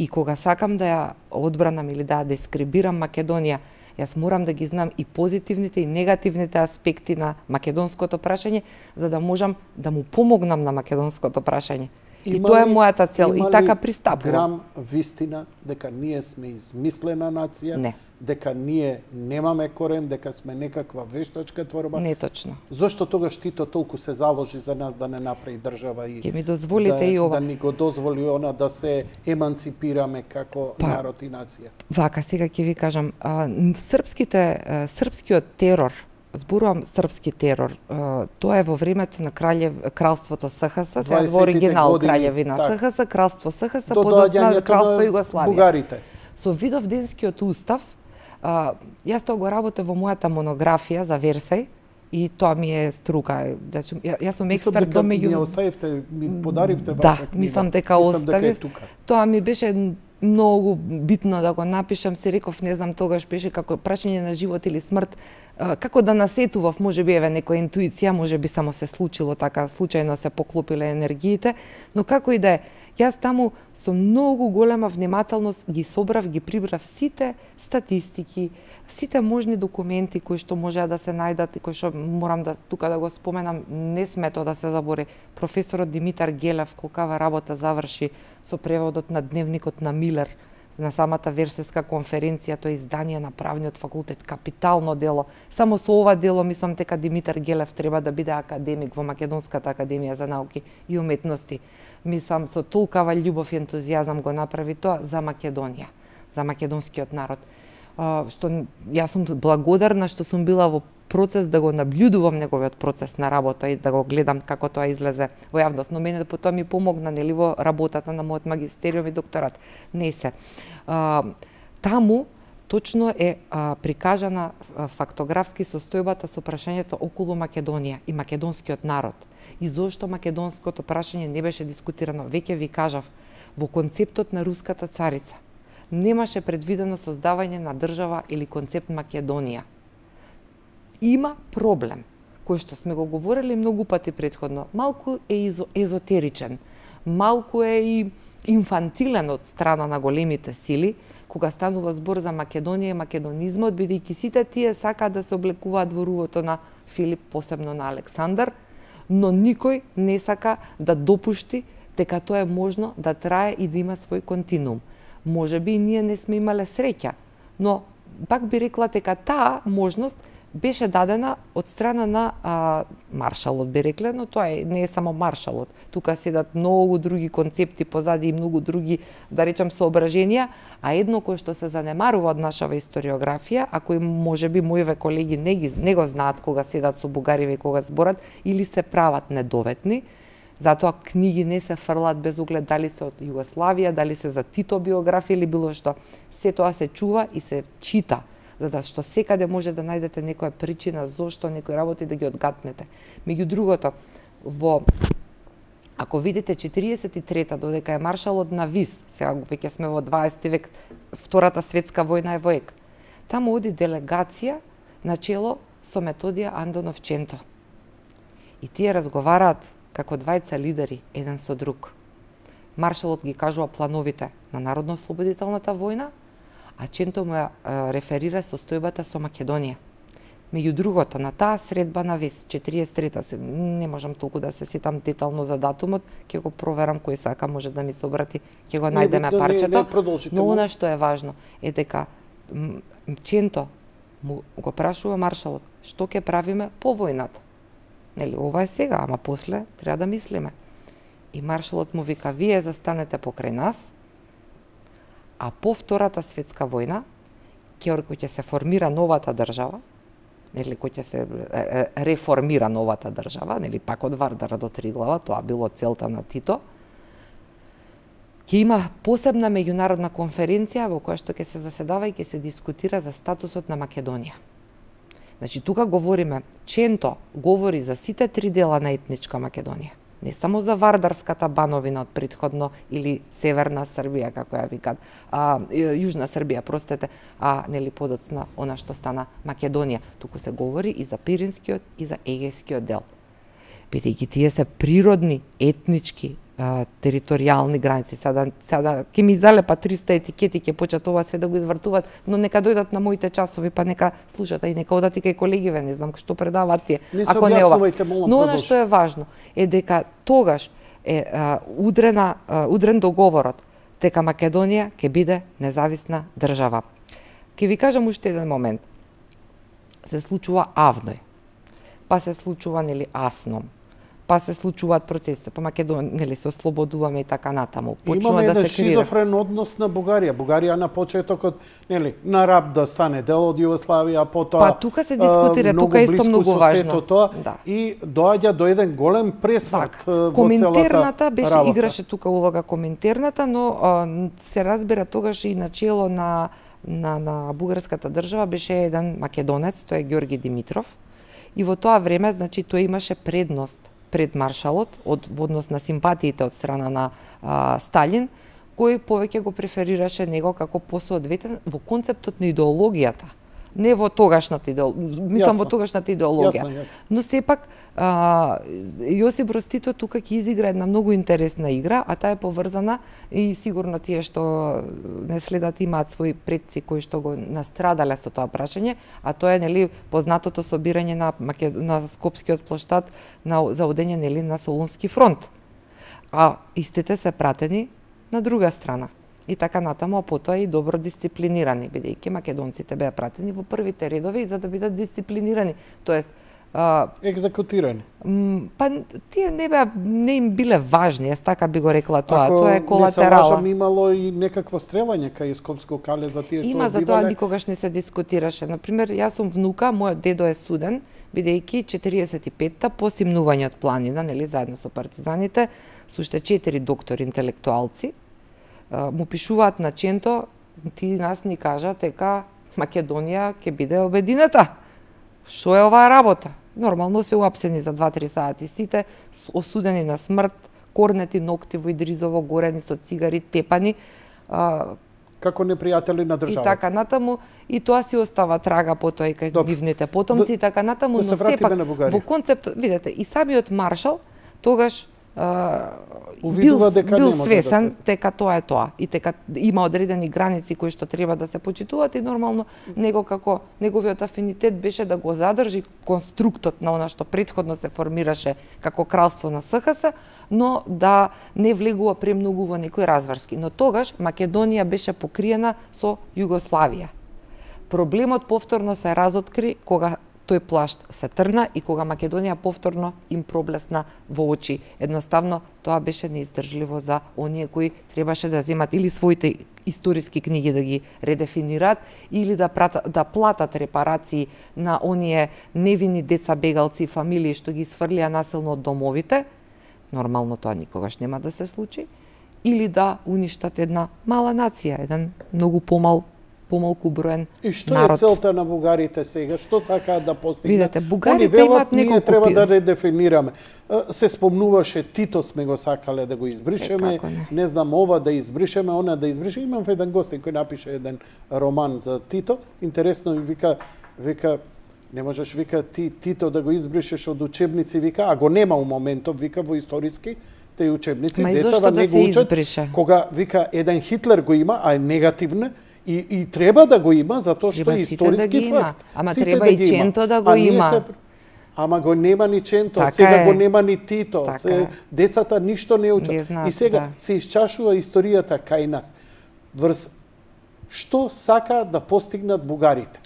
И кога сакам да ја одбранам или да ја дескрибирам Македонија, Јас морам да ги знам и позитивните и негативните аспекти на македонското прашање, за да можам да му помогнам на македонското прашање. И Има тоа е ли- мојата цел и има така ли пристапувам. грам вистина дека ние сме измислена нација, Не. дека ние немаме корен, дека сме некаква вештачка творба? Не точно. Зошто тогаш Тито толку се заложи за нас да не направи држава и Ќе ми дозволите да, и ова. да ни го дозволи она да се еманципираме како Па, народ и нација? Вака, сега ќе ви кажам, а, н- српските, а, српскиот терор, зборувам српски терор, а, тоа е во времето на краљев, кралството СХС, сега во дваесеттите оригинал години, краљевина така. СХС, кралство СХС, До подосна доаѓањето кралство на Југославија. бугарите. Со Видовденскиот устав, а, јас тоа го работев во мојата монографија за Версај и тоа ми е струка. Значи, ја- јас сум Мислам експерт дека до ми ја меѓу... оставивте, ми подаривте Да, ваша книга. мислам дека Мислам дека е оставив. тука. Тоа ми беше многу битно да го напишам, се реков, не знам, тогаш беше како прашање на живот или смрт, а, како да насетував, можеби еве некоја интуиција, можеби само се случило така, случајно се поклопиле енергиите, но како и да е, јас таму со многу голема внимателност ги собрав, ги прибрав сите статистики, сите можни документи кои што можеа да се најдат и кои што морам да тука да го споменам, не смето да се забори. Професорот Димитар Гелев, колкава работа заврши со преводот на дневникот на Милер на самата Версеска конференција, тоа е издание на правниот факултет, капитално дело. Само со ова дело мислам дека Димитар Гелев треба да биде академик во Македонската академија за науки и уметности. Мислам, со толкава љубов и ентузијазам го направи тоа за Македонија, за македонскиот народ. А, што јас сум благодарна што сум била во процес да го наблюдувам неговиот процес на работа и да го гледам како тоа излезе во јавност. Но мене потоа ми помогна нели во работата на мојот магистериум и докторат. Не се. А, таму точно е а, прикажана а, фактографски состојбата со прашањето околу Македонија и македонскиот народ. И зошто македонското прашање не беше дискутирано. Веќе ви кажав, во концептот на руската царица немаше предвидено создавање на држава или концепт Македонија. Има проблем, кој што сме го говорили многу пати претходно. Малку е изо, езотеричен, малку е и инфантилен од страна на големите сили, кога станува збор за Македонија и македонизмот, бидејќи сите тие сакаат да се облекуваат во рувото на Филип, посебно на Александар, но никој не сака да допушти дека тоа е можно да трае и да има свој континуум. Може би и ние не сме имале среќа, но пак би рекла дека таа можност беше дадена од страна на а, маршалот, би рекле, но тоа е, не е само маршалот. Тука седат многу други концепти позади и многу други, да речам, соображенија, а едно кој што се занемарува од нашава историографија, а кој можеби моите колеги не, ги, не го знаат кога седат со бугариве и кога зборат, или се прават недоветни, затоа книги не се фрлат без оглед дали се од Југославија, дали се за Тито биографија или било што. Се тоа се чува и се чита, за што секаде може да најдете некоја причина зошто некои работи да ги одгатнете. Меѓу другото, во ако видите четириесет и трета додека е маршалот на Вис, сега веќе сме во дваесети век, Втората светска војна е во ек. Таму оди делегација на чело со Методија Андонов Ченто. И тие разговараат како двајца лидери еден со друг. Маршалот ги кажува плановите на Народно-ослободителната војна, а Ченто му ја реферира состојбата со Македонија. Меѓу другото, на таа средба на Вис, четириесет и трета, не можам толку да се сетам детално за датумот, ќе го проверам, кој сака може да ми се обрати, ќе го најдеме парчето, но она што е важно е дека Ченто му го прашува маршалот, што ќе правиме по војната? Нели, ова е сега, ама после треба да мислиме. И маршалот му вика, вие застанете покрај нас, а по Втората светска војна, ќе ќе се формира новата држава, нели, кој ќе се е, е, реформира новата држава, нели, пак од Вардара до Триглава, тоа било целта на Тито, ќе има посебна меѓународна конференција во која што ќе се заседава и ќе се дискутира за статусот на Македонија. Значи, тука говориме, Ченто говори за сите три дела на етничка Македонија. Не само за Вардарската бановина од предходно или Северна Србија, како ја викат, а, Јужна Србија, простете, а нели подоцна она што стана Македонија. Туку се говори и за Пиринскиот и за Егејскиот дел. Бидејќи тие се природни, етнички а, територијални граници. Сада, сада ќе ми залепа триста етикети, ќе почнат ова све да го извртуваат, но нека дојдат на моите часови, па нека слушат, и нека одат и кај колегиве, не знам што предаваат тие. Не Ако не ова. Молам, но она што е важно е дека тогаш е а, удрена, а, удрен договорот дека Македонија ќе биде независна држава. Ќе ви кажам уште еден момент. Се случува Авној, па се случува нели Асном, па се случуваат процесите, па Македонија нели се ослободуваме и така натаму. Почнува да се крира. Имаме еден шизофрен однос на Бугарија. Бугарија на почетокот нели на раб да стане дел од Југославија, потоа па тука се дискутира, тука исто многу важно. Тоа, да. И доаѓа до еден голем пресврт так, во Коминтерната беше работа. Играше тука улога Коминтерната, но а, се разбира тогаш и начело на на на бугарската држава беше еден македонец, тој е Ѓорги Димитров. И во тоа време, значи, тој имаше предност пред маршалот од во однос на симпатиите од страна на а, Сталин, кој повеќе го преферираше него како посоодветен во концептот на идеологијата. Не во тогашната идеологија, мислам во тогашната идеологија. Јасно, јасно. Но сепак а, Јосип Брос Тито тука ќе изигра една многу интересна игра, а таа е поврзана и сигурно тие што не следат имаат своји предци кои што го настрадале со тоа прашање, а тоа е нели познатото собирање на Макед... на Скопскиот плоштад на за одење нели на Солунски фронт. А истите се пратени на друга страна. И така натаму, а потоа и добро дисциплинирани, бидејќи македонците беа пратени во првите редови за да бидат дисциплинирани, тоест а, екзекутирани. Па тие не беа не им биле важни, јас така би го рекла тоа, Ако тоа е колатерала. Ако не се лажам, имало и некакво стрелање кај Скопско кале за тие што Има, за тоа никогаш не се дискутираше. Например, јас сум внука, мојот дедо е суден, бидејќи четириесет и петта по симнување од планина, нели заедно со партизаните, со уште четири доктори интелектуалци, му пишуваат на Ченто, ти нас ни кажа дека Македонија ќе биде обединета. Што е оваа работа? Нормално се уапсени за два-три сати сите, осудени на смрт, корнети ноќти во Идризово, горени со цигари, тепани. А, како непријатели на државата. И така натаму, и тоа си остава трага потоа и кај нивните потомци, да, и така натаму, да но сепак во концепт, видете, и самиот маршал тогаш бил, бил свесен да се... дека тоа е тоа и дека има одредени граници кои што треба да се почитуваат и нормално него како неговиот афинитет беше да го задржи конструктот на она што претходно се формираше како кралство на СХС, но да не влегува премногу во некои разврски. Но тогаш Македонија беше покриена со Југославија. Проблемот повторно се разоткри кога тој плашт се трна и кога Македонија повторно им проблесна во очи. Едноставно, тоа беше неиздржливо за оние кои требаше да земат или своите историски книги да ги редефинираат, или да, прата, да платат репарации на оние невини деца, бегалци и фамилии што ги сврлија насилно од домовите. Нормално тоа никогаш нема да се случи. Или да уништат една мала нација, еден многу помал помалку броен народ. И што народ. Е целта на бугарите сега? Што сакаат да постигнат? Видете, бугарите имаат неколку... Ние треба да редефинираме. Се спомнуваше Тито сме го сакале да го избришеме, е, не. не знам ова да избришеме, она да избришеме. Имам еден гостин кој напише еден роман за Тито. Интересно, вика, вика, не можеш, вика, ти Тито да го избришеш од учебници, вика, а го нема у моментов, вика, во историски теј учебници. Ма и зошто да се избрише? Кога, вика, еден Хитлер го има, а е негативна, И, и треба да го има, затоа што е историски да факт. Ама сите треба да и Ченто да го има. Се... Ама го нема ни Ченто, така сега е. го нема ни Тито. Така се, децата ништо не учат. Знаат, и сега да. се исчашува историјата кај нас. Врз што сака да постигнат бугарите?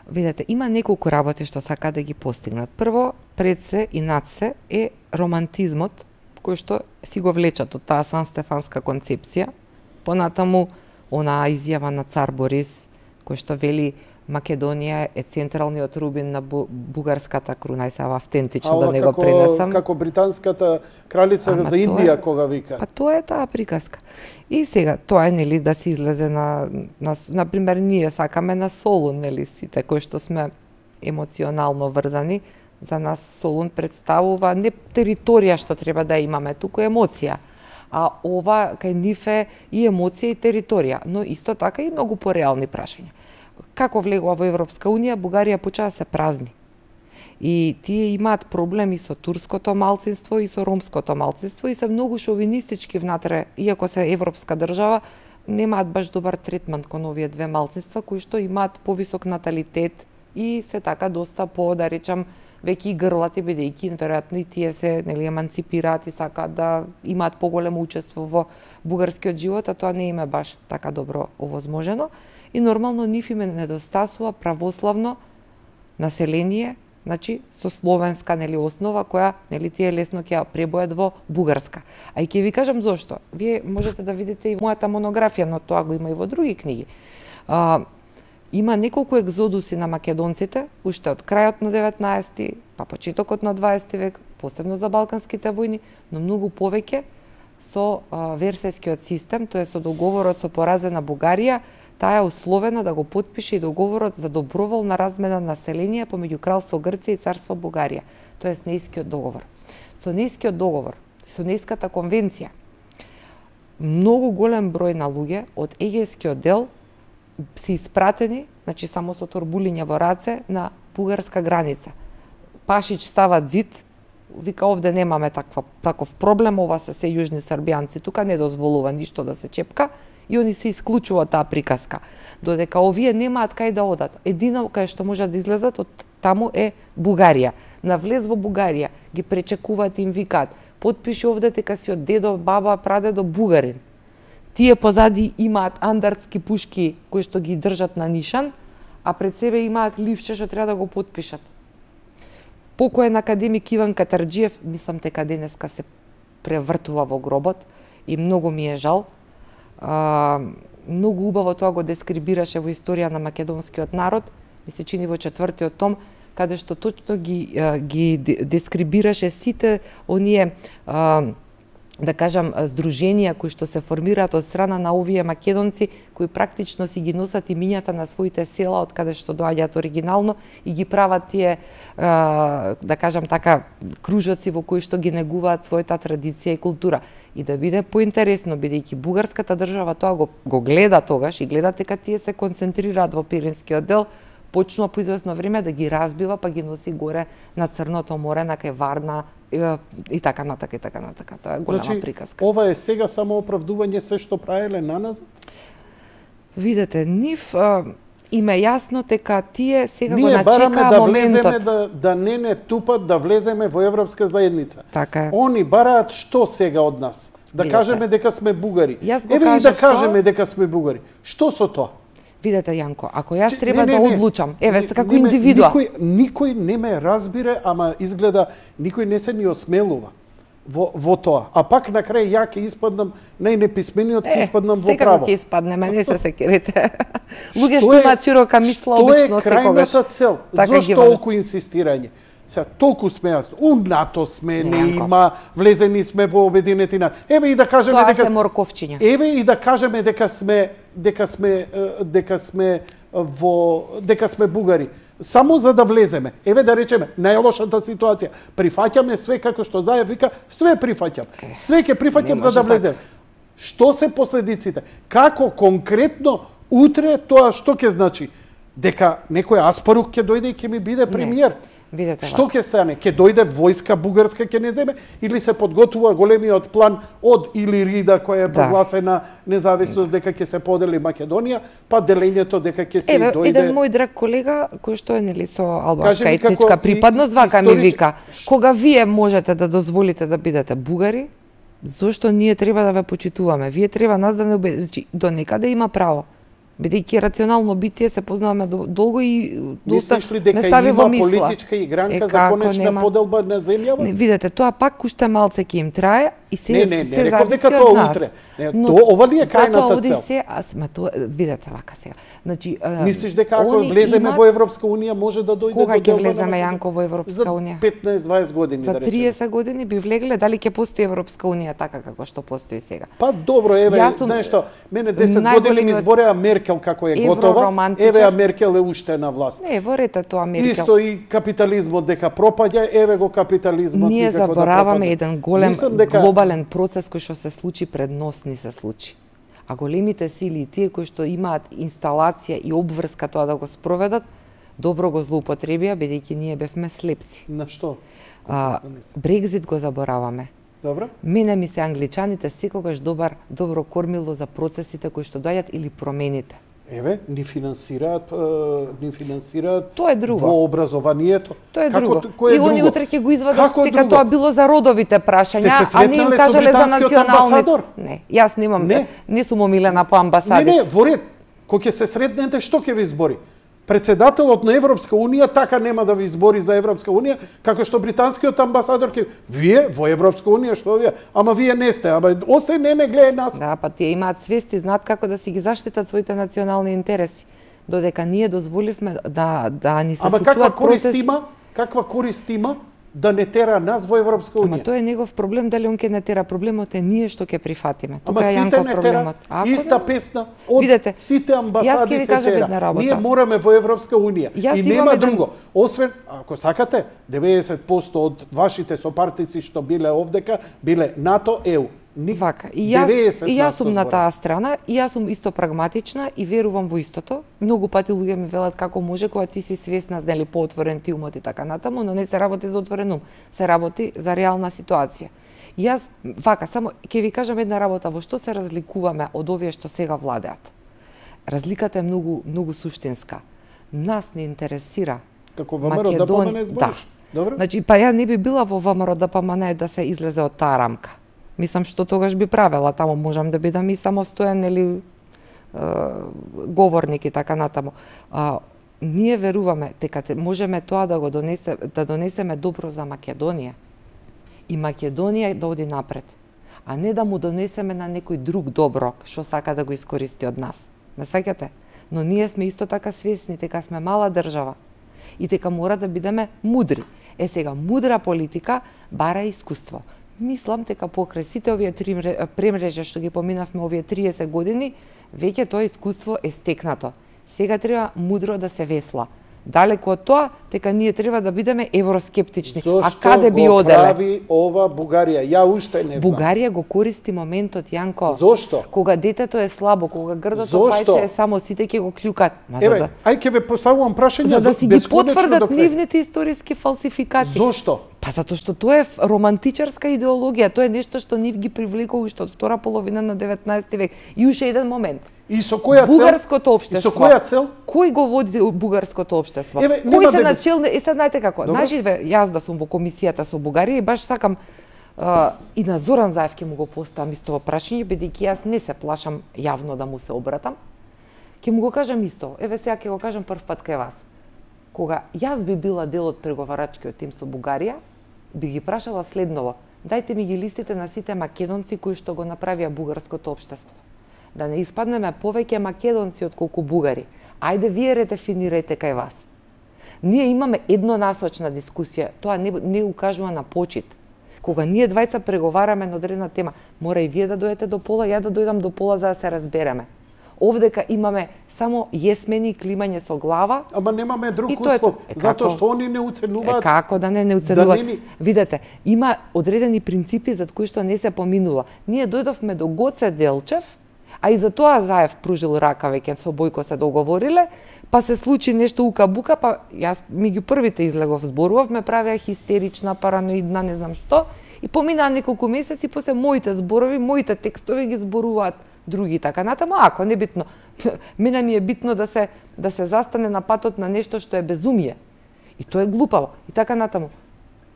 Видете, има неколку работи што сака да ги постигнат. Прво, пред се и над се е романтизмот, кој што си го влечат од таа Сан-Стефанска концепција. Понатаму, она изјава на цар Борис, кој што вели Македонија е централниот рубин на бу, бугарската круна, и сега автентично да не како, го пренесам. Како британската кралица Ама за Индија, е, кога вика. Па тоа е таа приказка. И сега, тоа е, нели, да се излезе на, на, например, ние сакаме на Солун, нели, сите кои што сме емоционално врзани, за нас Солун представува не територија што треба да имаме, туку емоција. А ова кај нив е и емоција и територија, но исто така и многу пореални прашања. Како влегува во Европска Унија, Бугарија почаа да се празни. И тие имаат проблеми со турското малцинство и со ромското малцинство и се многу шовинистички внатре, иако се европска држава, немаат баш добар третман кон овие две малцинства кои што имаат повисок наталитет и се така доста по, да речам, веќе и грлати, бидејќи веројатно и тие се, нели, еманципираат и сакаат да имаат поголемо учество во бугарскиот живот, а тоа не им е баш така добро овозможено. И нормално нив им недостасува православно население, значи со словенска, нели, основа која, нели, тие лесно ќе ја пребојат во бугарска. А и ќе ви кажам зошто. Вие можете да видите и мојата монографија, но тоа го има и во други книги. А, има неколку екзодуси на македонците, уште од крајот на деветнаесети, па почетокот на дваесети век, посебно за балканските војни, но многу повеќе со а, Версајскиот систем, тоа е со договорот со поразена Бугарија, таа е условена да го потпише и договорот за доброволна размена на население помеѓу Кралство Грција и Царство Бугарија, тоа е Нејскиот договор. Со Нејскиот договор, со Нејската конвенција, многу голем број на луѓе од егејскиот дел се испратени, значи само со торбулиња во раце, на бугарска граница. Пашич става зид, вика овде немаме таква, таков проблем, ова се се јужни србијанци, тука не дозволува ништо да се чепка, и они се исклучува таа приказка. Додека овие немаат кај да одат. Едина кај што можат да излезат од таму е Бугарија. На влез во Бугарија ги пречекуваат и им викаат: потпиши овде дека си од дедо, баба, прадедо бугарин. Тие позади имаат андартски пушки кои што ги држат на нишан, а пред себе имаат ливче што треба да го потпишат. Покоен академик Иван Катарџиев, мислам дека денеска се превртува во гробот и многу ми е жал. А, многу убаво тоа го дескрибираше во Историја на македонскиот народ, ми се чини во четвртиот том, каде што точно ги, ги дескрибираше сите оние, а, да кажам, здруженија кои што се формираат од страна на овие македонци, кои практично си ги носат имињата на своите села од каде што доаѓаат оригинално и ги прават тие, а, да кажам така, кружоци во кои што ги негуваат својата традиција и култура. И да биде поинтересно, бидејќи бугарската држава тоа го, го гледа тогаш и гледа дека тие се концентрираат во Пиринскиот дел, почнува по известно време да ги разбива, па ги носи горе на Црното море, на кај Варна и, и така натака и така натака. Тоа е голема значи, приказка. Ова е сега само оправдување се што правеле наназад? Видете, нив а, им е јасно дека тие сега ние го начекаа да моментот. Влеземе да, да не не тупат да влеземе во Европска заедница. Така е. Они бараат што сега од нас? Да Видете, кажеме дека сме бугари. Еве и да кажеме тоа... дека сме бугари. Што со тоа? Видете, Јанко, ако јас Че, треба не, не, да не, одлучам, еве се како не, индивидуа. Никој, никој не ме разбира, ама изгледа никој не се ни осмелува во, во тоа. А пак на крај ја ќе испаднам најнеписмениот, ќе испаднам во право. Секако ќе испаднеме, не се секирете. Луѓе што имаат широка мисла обично секогаш. Што е крајната цел? Така Зошто толку инсистирање? Сега, толку сме јасно. У НАТО сме, не има, влезени сме во Обединети нации. Еве и да кажеме тоа дека се морковчиња. Еве и да кажеме дека сме дека сме дека сме во дека сме бугари. Само за да влеземе. Еве да речеме, најлошата ситуација. Прифаќаме све како што Заев вика, све прифаќам. Све ќе прифаќам за да влеземе. Што се последиците? Како конкретно утре тоа што ќе значи? Дека некој Аспарук ќе дојде и ќе ми биде премиер. Видете, што ќе стане? Ќе дојде војска бугарска ќе не земе или се подготвува големиот план од Илирида која е прогласена да. независност дека ќе се подели Македонија, па делењето дека ќе се Еве, дојде. еден мој драг колега кој што е нели со албанска Кажи етничка припадност вака историч... ми вика: кога вие можете да дозволите да бидете бугари, зошто ние треба да ве почитуваме? Вие треба нас да не обе... значи, до некаде има право. Бидејќи рационално битие се познаваме долго и доста не стави во мисла. Мислиш ли дека има политичка игранка е, за конечна нема... поделба на земјава? Не, видете, тоа пак уште малце ќе им трае и се не, не, не, се реков дека тоа тоа утре. Не, но, то, ова ли е крајната цел? Се, аз, ма тоа, видете вака сега. Значи, мислиш дека ако влеземе имат... во Европска унија може да дојде кога до ќе влеземе Јанко во Европска унија? За петнаесет дваесет години за да речеме. За триесет години би влегле, дали ќе постои Европска унија така како што постои сега? Па добро, еве, знаеш што, мене десет години ми збореа Меркел како е готова. Еве Меркел е уште на власт. Не, ворете тоа Меркел. Исто и капитализмот дека пропаѓа, еве го капитализмот ние никако да забораваме еден голем дека... глобален процес кој што се случи пред нос ни се случи. А големите сили, тие кои што имаат инсталација и обврска тоа да го спроведат, Добро го злоупотребија, бидејќи ние бевме слепци. На што? А, Брекзит го забораваме. Добро. Мене ми се англичаните секогаш добар, добро кормило за процесите кои што доаѓаат или промените. Еве, ни финансираат, ни финансираат Тоа е друго. Во образованието. Тоа е Како, друго. кој е и друго? они утре ќе го извадат Како дека друго? тоа било за родовите прашања, а не им кажале за национални. Не, јас немам, не, не сум омилена по амбасадите. Не, не, во ред. Кога ќе се сретнете, што ќе ви избори? Председателот на Европска унија така нема да ви избори за Европска унија, како што британскиот амбасадор ќе вие во Европска унија што вие, ама вие не сте, ама остај не не гледај нас. Да, па тие имаат свест и знаат како да си ги заштитат своите национални интереси. Додека ние дозволивме да да ни се ама случуваат каква корист процеси... има? Каква корист има да не тера нас во Европска унија? Ама тоа е негов проблем, дали он ќе не тера. Проблемот е ние што ќе прифатиме. Ама Тука е сите Јанко не проблемот. тера, Ако иста не... песна од Видете, сите амбасади се кажам една тера. работа. Ние мораме во Европска унија Јас и имам нема еден... друго. Освен, ако сакате, деветдесет проценти од вашите сопартици што биле овдека, биле НАТО, Е У. Ник... Вака, и јас, и јас сум на збора. таа страна, и јас сум исто прагматична и верувам во истото. Многу пати луѓе ми велат како може кога ти си свесна, нели, поотворен ти умот и така натаму, но не се работи за отворен ум, се работи за реална ситуација. И јас, вака, само ќе ви кажам една работа, во што се разликуваме од овие што сега владеат. Разликата е многу, многу суштинска. Нас не интересира Како ВМРО да помане збориш. Да. Добро? Значи, па ја не би била во ВМРО да помане да се излезе од таа рамка. Мислам што тогаш би правела, тамо можам да бидам и самостоен или е, говорник и така натаму. А, ние веруваме дека можеме тоа да го донесе, да донесеме добро за Македонија. И Македонија да оди напред, а не да му донесеме на некој друг добро што сака да го искористи од нас. Ме сваќате? Но ние сме исто така свесни дека сме мала држава и дека мора да бидеме мудри. Е сега, мудра политика бара искуство. Мислам дека покрај сите овие три премрежа што ги поминавме овие триесет години, веќе тоа искуство е стекнато. Сега треба мудро да се весла. Далеку од тоа, дека ние треба да бидеме евроскептични. Зошто а каде би го оделе? прави ова Бугарија? Ја уште не знам. Бугарија го користи моментот, Јанко. Зошто? Кога детето е слабо, кога грдото Зошто? пајче е само, сите ќе го клюкат. Ма Еве, за да, ај ќе ве поставувам прашање за да си ги бесконечно потврдат до крај. нивните историски фалсификати. Зошто? Па затоа што тоа е романтичарска идеологија, тоа е нешто што нив ги привлекува уште од втора половина на деветнаесети век. И уште еден момент. И со која цел? Бугарското И општество. со која цел? Кој го води бугарското општество? Еве, Кои нема се да- начелни, е sad знаете како? Добро. Значи јас да сум во комисијата со Бугарија и баш сакам а, и на Зоран Заев ќе му го поставам исто прашање, бидејќи јас не се плашам јавно да му се обратам. Ќе му го кажам исто. Еве сега ќе го кажам прв пат кај вас. Кога јас би била дел од преговарачкиот тим со Бугарија, би ги прашала следново: дајте ми ги листите на сите македонци кои што го направија бугарското општество. Да не испаднеме повеќе македонци отколку бугари. Ајде вие редефинирајте кај вас. Ние имаме еднонасочна дискусија, тоа не, не укажува на почит. Кога ние двајца преговараме на одредена тема, мора и вие да дојдете до пола, ја да дојдам до пола за да се разбереме. Овдека имаме само јесмени и климање со глава. Ама немаме друг И тоа е услов, тоа. Е, затоа како? што они не Е, уценуваат. како да не не оценуваат? Да не ни- Видете, има одредени принципи за кои што не се поминува. Ние дојдовме до Гоце Делчев, а и за тоа Заев пружил рака веќе со Бојко се договориле, па се случи нешто ука-бука, па јас меѓу првите излегов зборував, ме правеа хистерична, параноидна, не знам што, и поминаа неколку месеци, после моите зборови, моите текстови ги зборуваат други така натаму, ако не битно. Мене ми е битно да се да се застане на патот на нешто што е безумие. И тоа е глупаво. И така натаму.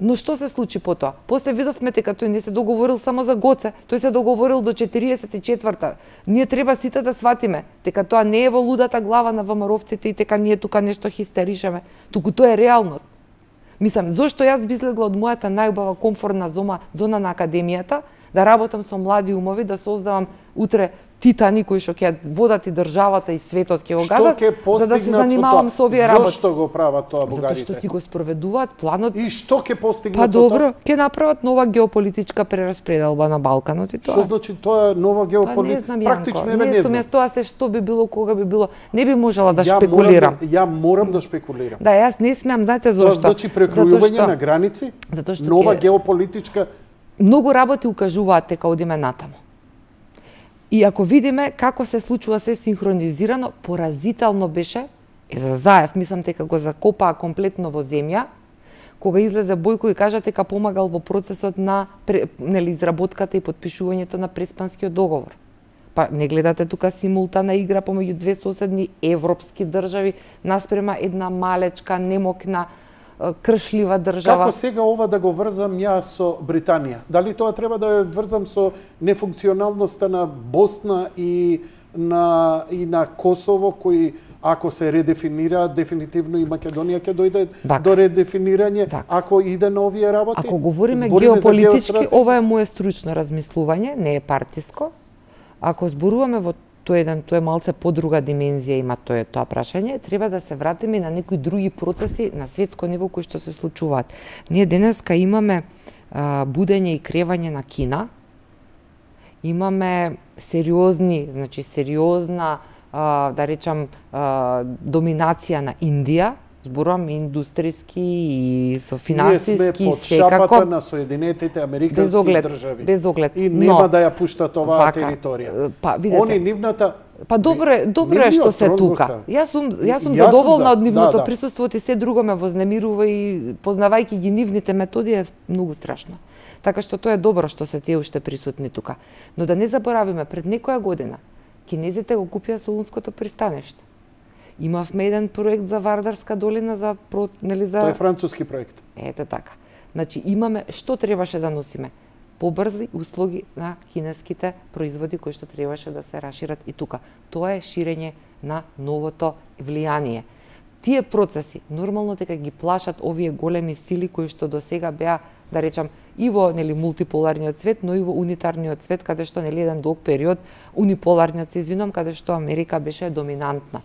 Но што се случи потоа? После видовме дека тој не се договорил само за Гоце, тој се договорил до четириесет и четврта. Ние треба сите да сватиме дека тоа не е во лудата глава на ВМРО-вците и дека ние тука нешто хистеришеме, туку тоа е реалност. Мислам, зошто јас би излегла од мојата најубава комфортна зона, зона на академијата, да работам со млади умови, да создавам утре титани кои што ќе водат и државата и светот ќе го газат, за да се занимавам со овие работи. Зошто го прават тоа бугарите? Затоа што си го спроведуваат планот. И што ќе постигнат? Па добро, ќе направат нова геополитичка прераспределба на Балканот и тоа. Што значи тоа нова Па не геополитика? знам, Практично Јанко, еве не не сум знам. јас тоа се што би било, кога би било. Не би можела да Ја шпекулирам. Морам, да- ја морам да шпекулирам. Да, јас не смеам, знаете Тоа зошто? значи Затоа прекројување што на граници, затоа што нова ќе- геополитичка. многу работи укажуваат дека одиме натаму. И ако видиме како се случува се синхронизирано, поразително беше Е, за Заев, мислам дека го закопаа комплетно во земја, кога излезе Бојко и кажа дека помагал во процесот на нели изработката и потпишувањето на Преспанскиот договор. Па не гледате тука симултана игра помеѓу две соседни европски држави наспрема една малечка, немокна, кршлива држава. Како сега ова да го врзам ја со Британија? Дали тоа треба да ја врзам со нефункционалноста на Босна и на и на Косово, кои ако се редефинира, дефинитивно и Македонија ќе дојде так, до редефинирање, так. ако иде на овие работи? Ако говориме Збориме геополитички, ова е мое стручно размислување, не е партиско. Ако зборуваме во тој еден, тоа е малце подруга димензија има тоа тоа прашање, треба да се вратиме на некои други процеси на светско ниво кои што се случуваат. Ние денеска имаме а, будење и кревање на Кина, имаме сериозни, значи сериозна, а, да речам, а, доминација на Индија, зборувам индустријски и со финансиски секако. Ние сме под шапата на Соединетите Американски без оглед, држави. Без оглед. И нема Но, да ја пуштат оваа вака, територија. Па видете. Они нивната Па добре, добре е што се тука. Јас сум јас сум Јас задоволна сум за, од нивното да, да. присуство и се друго ме вознемирува и познавајќи ги нивните методи е многу страшно. Така што тоа е добро што се тие уште присутни тука. Но да не заборавиме, пред некоја година кинезите го купија Солунското пристаниште. Имавме еден проект за Вардарска долина за нели за Тоа е француски проект. Ете така. Значи имаме што требаше да носиме? Побрзи услуги на кинеските производи кои што требаше да се расшират и тука. Тоа е ширење на новото влијание. Тие процеси нормално дека ги плашат овие големи сили кои што до сега беа, да речам, и во нели мултиполарниот свет, но и во унитарниот свет, каде што нели еден долг период униполарниот се извинувам, каде што Америка беше доминантна.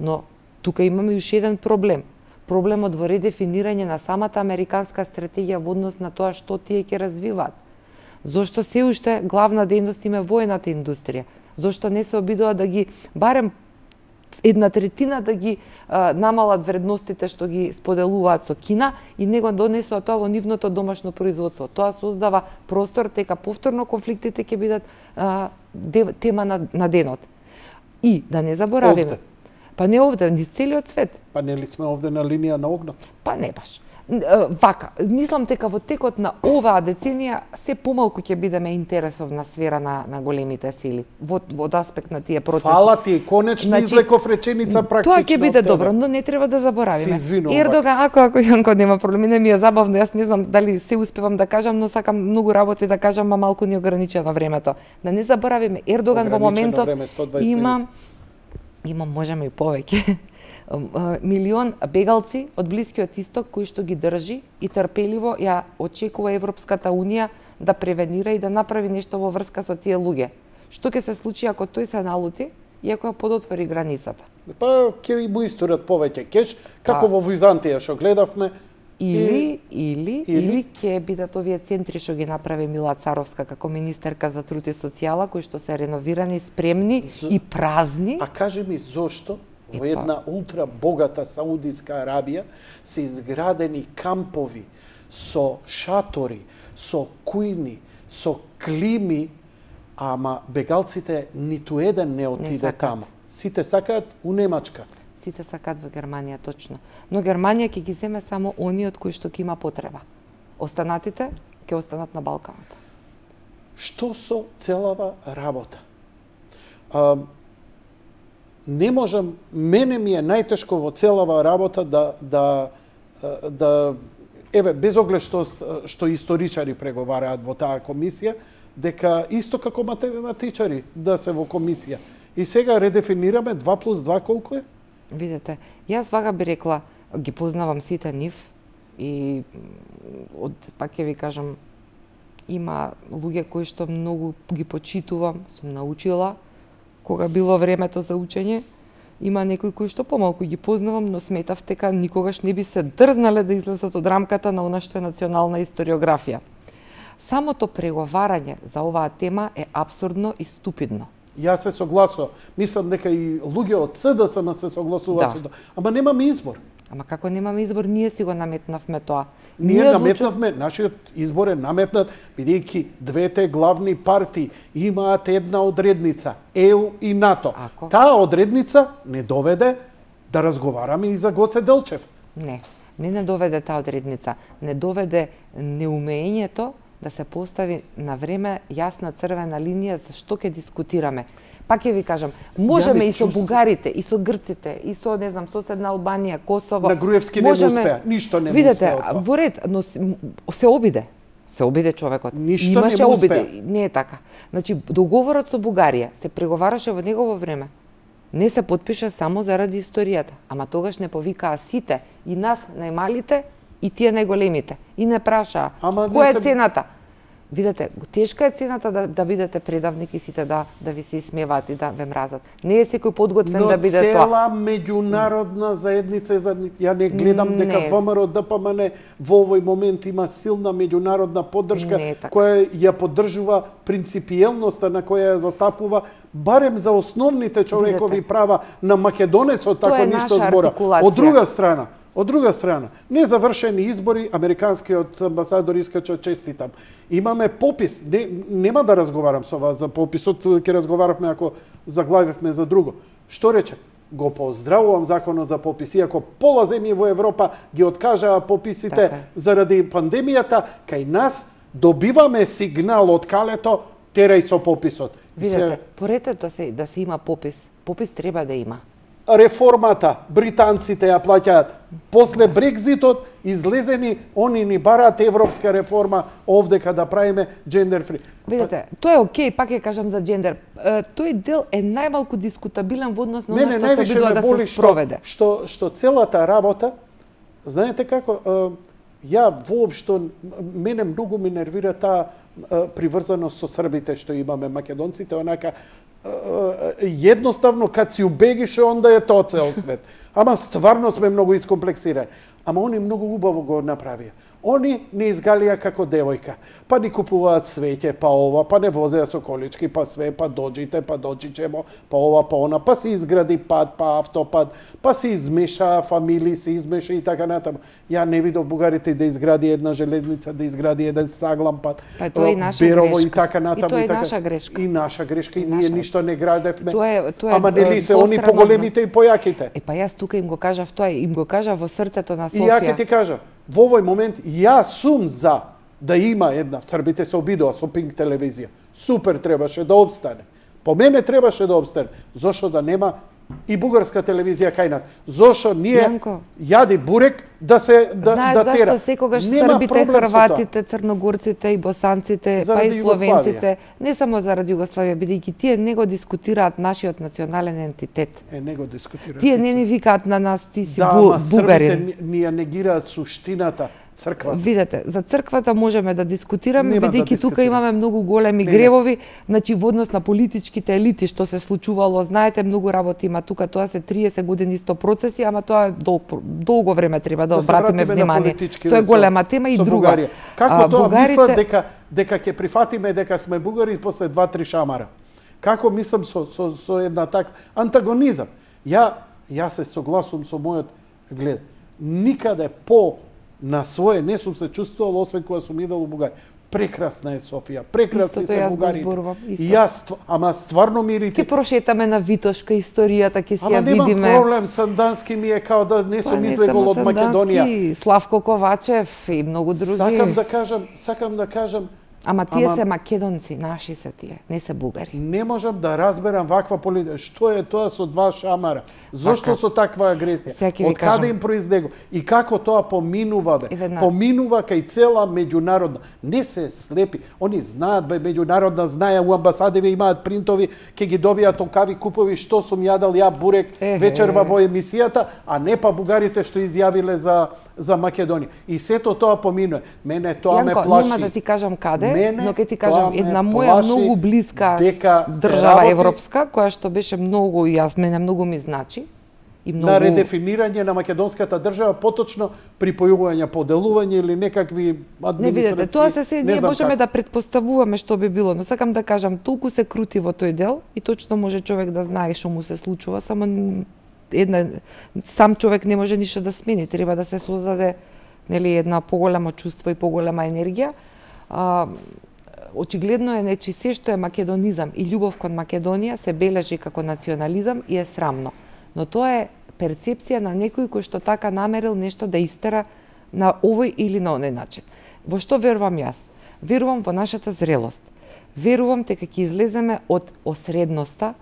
Но тука имаме уште еден проблем. Проблемот во редефинирање на самата американска стратегија во однос на тоа што тие ќе развиваат. Зошто се уште главна дејност им е воената индустрија? Зошто не се обидува да ги барем една третина да ги а, намалат вредностите што ги споделуваат со Кина и него донесува тоа во нивното домашно производство. Тоа создава простор дека повторно конфликтите ќе бидат а, де, тема на, на денот. И да не заборавиме. Овде. Па не овде, ни целиот свет. Па нели сме овде на линија на огнот? Па не баш. Вака, мислам дека во текот на оваа деценија се помалку ќе бидеме интересовна сфера на, на големите сили во, во аспект на тие процеси. Фала ти, конечно значи, излеков реченица практично. Тоа ќе биде добро, но не треба да заборавиме. Ердоган, ако ако Јанко нема проблеми, не ми е забавно, јас не знам дали се успевам да кажам, но сакам многу работи да кажам, а малку ни ограничено времето. Да не заборавиме, Ердоган во моментов време, има има можеме и повеќе. Милион бегалци од Блискиот Исток кои што ги држи и трпеливо ја очекува Европската Унија да превенира и да направи нешто во врска со тие луѓе. Што ќе се случи ако тој се налути и ако ја подотвори границата? Па ќе му истурат повеќе кеш, како па, во Византија што гледавме. Или, и... или, или, или ќе бидат овие центри што ги направи Мила Царовска како министерка за труд и социјала, кои што се реновирани, спремни З... и празни. А кажи ми зошто во една ултра богата Саудиска Арабија се изградени кампови со шатори, со кујни, со клими, ама бегалците ниту еден не отиде не таму. Сите сакаат у Немачка. Сите сакаат во Германија, точно. Но Германија ќе ги земе само оние од кои што ќе има потреба. Останатите ќе останат на Балканот. Што со целава работа? А, не можам, мене ми е најтешко во целава работа да, да, да еве, без оглед што, што историчари преговараат во таа комисија, дека исто како математичари да се во комисија. И сега редефинираме два плюс два колку е? Видете, јас вага би рекла, ги познавам сите нив и од, пак ќе ви кажам, има луѓе кои што многу ги почитувам, сум научила, кога било времето за учење, има некои кои што помалку ги познавам, но сметав дека никогаш не би се дрзнале да излезат од рамката на она што е национална историографија. Самото преговарање за оваа тема е абсурдно и ступидно. Јас се согласувам. Мислам дека и луѓе од С Д С М се согласуваат со тоа. Ама немаме избор. Ама како немаме избор, ние си го наметнавме тоа. Ние, ние наметнавме, одлучу... нашиот избор е наметнат, бидејќи двете главни партии имаат една одредница, Е У и НАТО. Ако? Таа одредница не доведе да разговараме и за Гоце Делчев. Не, не не доведе таа одредница, не доведе неумењето да се постави на време јасна црвена линија за што ќе дискутираме. Пак ќе ви кажам, можеме и со бугарите, и со грците, и со, не знам, соседна Албанија, Косово. На Груевски не успеа, ништо не видете, успеа од тоа. Во ред, но се обиде. Се обиде човекот. Ништо Имаше не обиде. успеа. Не е така. Значи, договорот со Бугарија се преговараше во негово време. Не се потпиша само заради историјата. Ама тогаш не повикаа сите, и нас најмалите, и тие најголемите. И не прашаа, која е се... цената? Видете, тешка е цената да, да бидете предавник и сите да, да ви се исмеваат и да ве мразат. Не е секој подготвен но да биде тоа. Но цела меѓународна заедница, ја не гледам не. дека ВМРО Д П М Н во овој момент има силна меѓународна поддршка која ја поддржува принципиелноста на која ја застапува барем за основните човекови Видете. права на македонецот, така ништо збора. Од друга страна, Од друга страна, незавршени избори, американскиот амбасадор искача честитам. Имаме попис, не, нема да разговарам со вас за пописот, ќе разговаравме ако заглавивме за друго. Што рече? Го поздравувам законот за попис, иако пола земји во Европа ги откажаа пописите така. заради пандемијата, кај нас добиваме сигнал од калето, терај со пописот. Видете, во ред да се, да се има попис, попис треба да има. Реформата, британците ја плаќаат. После Брекзитот излезени, они ни бараат европска реформа овде када правиме джендер фри. Видете, тоа е окей, пак ја кажам за джендер. Тој дел е најмалку дискутабилен во однос на она што се обидува да се спроведе. Што, што целата работа, знаете како, ја воопшто, мене многу ме нервира таа приврзаност со србите што имаме македонците, онака едноставно кад си убегише онда е тоа цел свет. Ама стварно сме многу искомплексирани. Ама они многу убаво го направија. Они не изгалија како девојка. Па ни купуваат свеќе, па ова, па не возеа со колички, па све, па доđите, па доđичемо, па ова, па она, па се изгради пат, па автопат, па се измеша фамилии, се измеша и така натаму. Ја не видов бугарите да изгради една железница, да изгради еден саглам пат, па тоа е наша Берово грешка. И така натаму. И тоа е и така. наша грешка. И наша грешка, и, и ние наша... ништо не градевме. Тоа е, тоа е, ама нели се они поголемите и појаките. Е, па јас тука им го кажав тоа, им го кажав во срцето на Софија. И ја ќе ти кажа, во овој момент јас сум за да има една, србите се обидоа со Пинк телевизија. Супер требаше да обстане. По мене требаше да обстане. Зошто да нема и бугарска телевизија кај нас? Зошто ние Јанко, јади бурек да се да знаеш да тера? Зашто секогаш нема србите, хрватите, црногорците и босанците, заради па и словенците, не само заради Југославија, бидејќи тие не го дискутираат нашиот национален ентитет. Е, не го дискутираат. Тие не ни викаат на нас ти си да, бу, ама бугарин. србите ни ја негираат суштината. Црква. Видете, за црквата можеме да дискутираме, бидејќи да тука имаме многу големи не, гревови, значи во однос на политичките елити што се случувало, знаете, многу работи има тука, тоа се триесет години исто процеси, ама тоа е дол, долго време треба да, да обратиме внимание. Тоа е голема тема и друга. Бугарија. Како а, тоа бугарите... мислат дека дека ќе прифатиме дека сме бугари после два-три шамара? Како мислам со со со една таква антагонизам? Ја ја се согласувам со мојот глед. Никаде по на своје не сум се чувствувал освен кога сум идел у Бугарија. Прекрасна е Софија, прекрасни се бугарите. И јас, ама стварно ми ирите. Ке прошетаме на Витошка историјата, ке си ја видиме. Ама немам проблем, Сандански ми е као да не сум излегол од Македонија. Славко Ковачев и многу други. Сакам да кажам, сакам да кажам, Ама тие ама... се македонци, наши се тие, не се бугари. Не можам да разберам ваква политика. Што е тоа со два шамара? Зошто со таква агресија? Од каде им произлего? И како тоа поминува, бе? Поминува кај цела меѓународна. Не се слепи. Они знаат, бе, меѓународна знае, у амбасадиве имаат принтови, ке ги добијат толкави купови, што сум јадал ја бурек вечерва во емисијата, а не па бугарите што изјавиле за за Македонија. И сето тоа поминува. Мене тоа Јанко, ме плаши. Нема да ти кажам каде, Мене но ќе ти кажам една моја многу блиска држава работи... европска, која што беше многу, јас мене многу ми значи. И многу... На редефинирање на македонската држава, поточно припојување, поделување или некакви администрации. Не видете, тоа се се ние можеме как. да предпоставуваме што би било, но сакам да кажам, толку се крути во тој дел и точно може човек да знае што му се случува, само една сам човек не може ништо да смени, треба да се создаде нели една поголема чувство и поголема енергија. А, очигледно е нечи се што е македонизам и љубов кон Македонија се бележи како национализам и е срамно. Но тоа е перцепција на некој кој што така намерил нешто да истера на овој или на оној начин. Во што верувам јас? Верувам во нашата зрелост. Верувам дека ќе излеземе од осредноста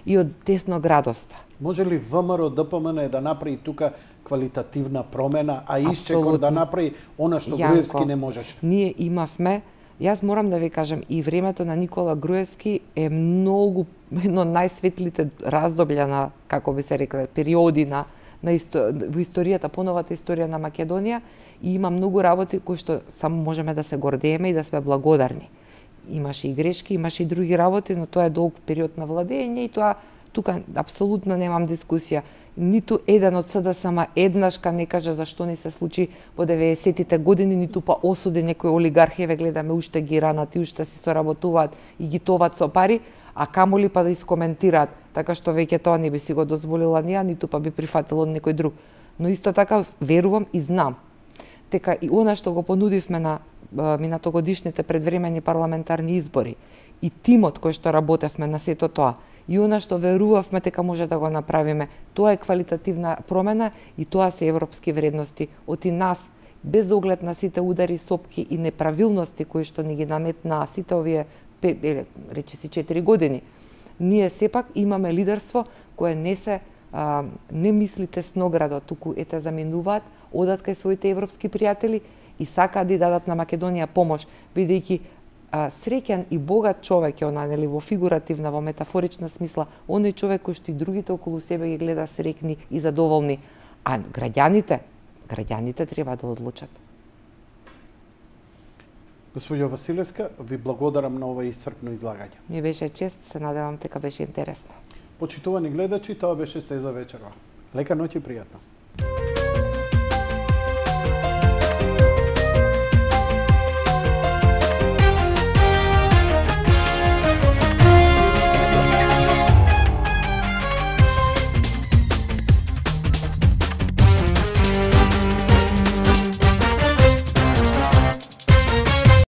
и од десноградоста. Може ли ВМРО ДПМН да направи тука квалитативна промена, а Исчекор да направи она што Јанко, Груевски не можеше? Ние имавме, јас морам да ви кажам, и времето на Никола Груевски е многу едно најсветлите раздоблја на, како би се рекле, периоди на, на исто, во историјата, поновата историја на Македонија, и има многу работи кои што само можеме да се гордееме и да сме благодарни. Имаше и грешки, имаше и други работи, но тоа е долг период на владење и тоа тука апсолутно немам дискусија. Ниту еден од СДСМ еднашка не каже зашто ни се случи во деветдесетите години, ниту па осуди некои олигархи, ве гледаме уште ги ранат и уште си соработуваат и ги товат со пари, а камоли па да искоментираат, така што веќе тоа не би си го дозволила ние, ниту па би прифатило од некој друг. Но исто така верувам и знам дека и она што го понудивме на минатогодишните предвремени парламентарни избори и тимот кој што работевме на сето тоа, и она што верувавме дека може да го направиме, тоа е квалитативна промена и тоа се европски вредности. Оти нас, без оглед на сите удари, сопки и неправилности кои што ни ги наметнаа сите овие, речи си, четири години, ние сепак имаме лидерство кое не се а, не мисли тесноградо, туку ете заминуваат, одат кај своите европски пријатели и сакаат да дадат на Македонија помош, бидејќи а, среќен и богат човек е она, нели, во фигуративна, во метафорична смисла, оној човек кој што и другите околу себе ги гледа среќни и задоволни, а граѓаните, граѓаните треба да одлучат. Госпоѓо Василевска, ви благодарам на ова исцрпно излагање. Ми беше чест, се надевам дека беше интересно. Почитувани гледачи, тоа беше се за вечерва. Лека ноќ и пријатно.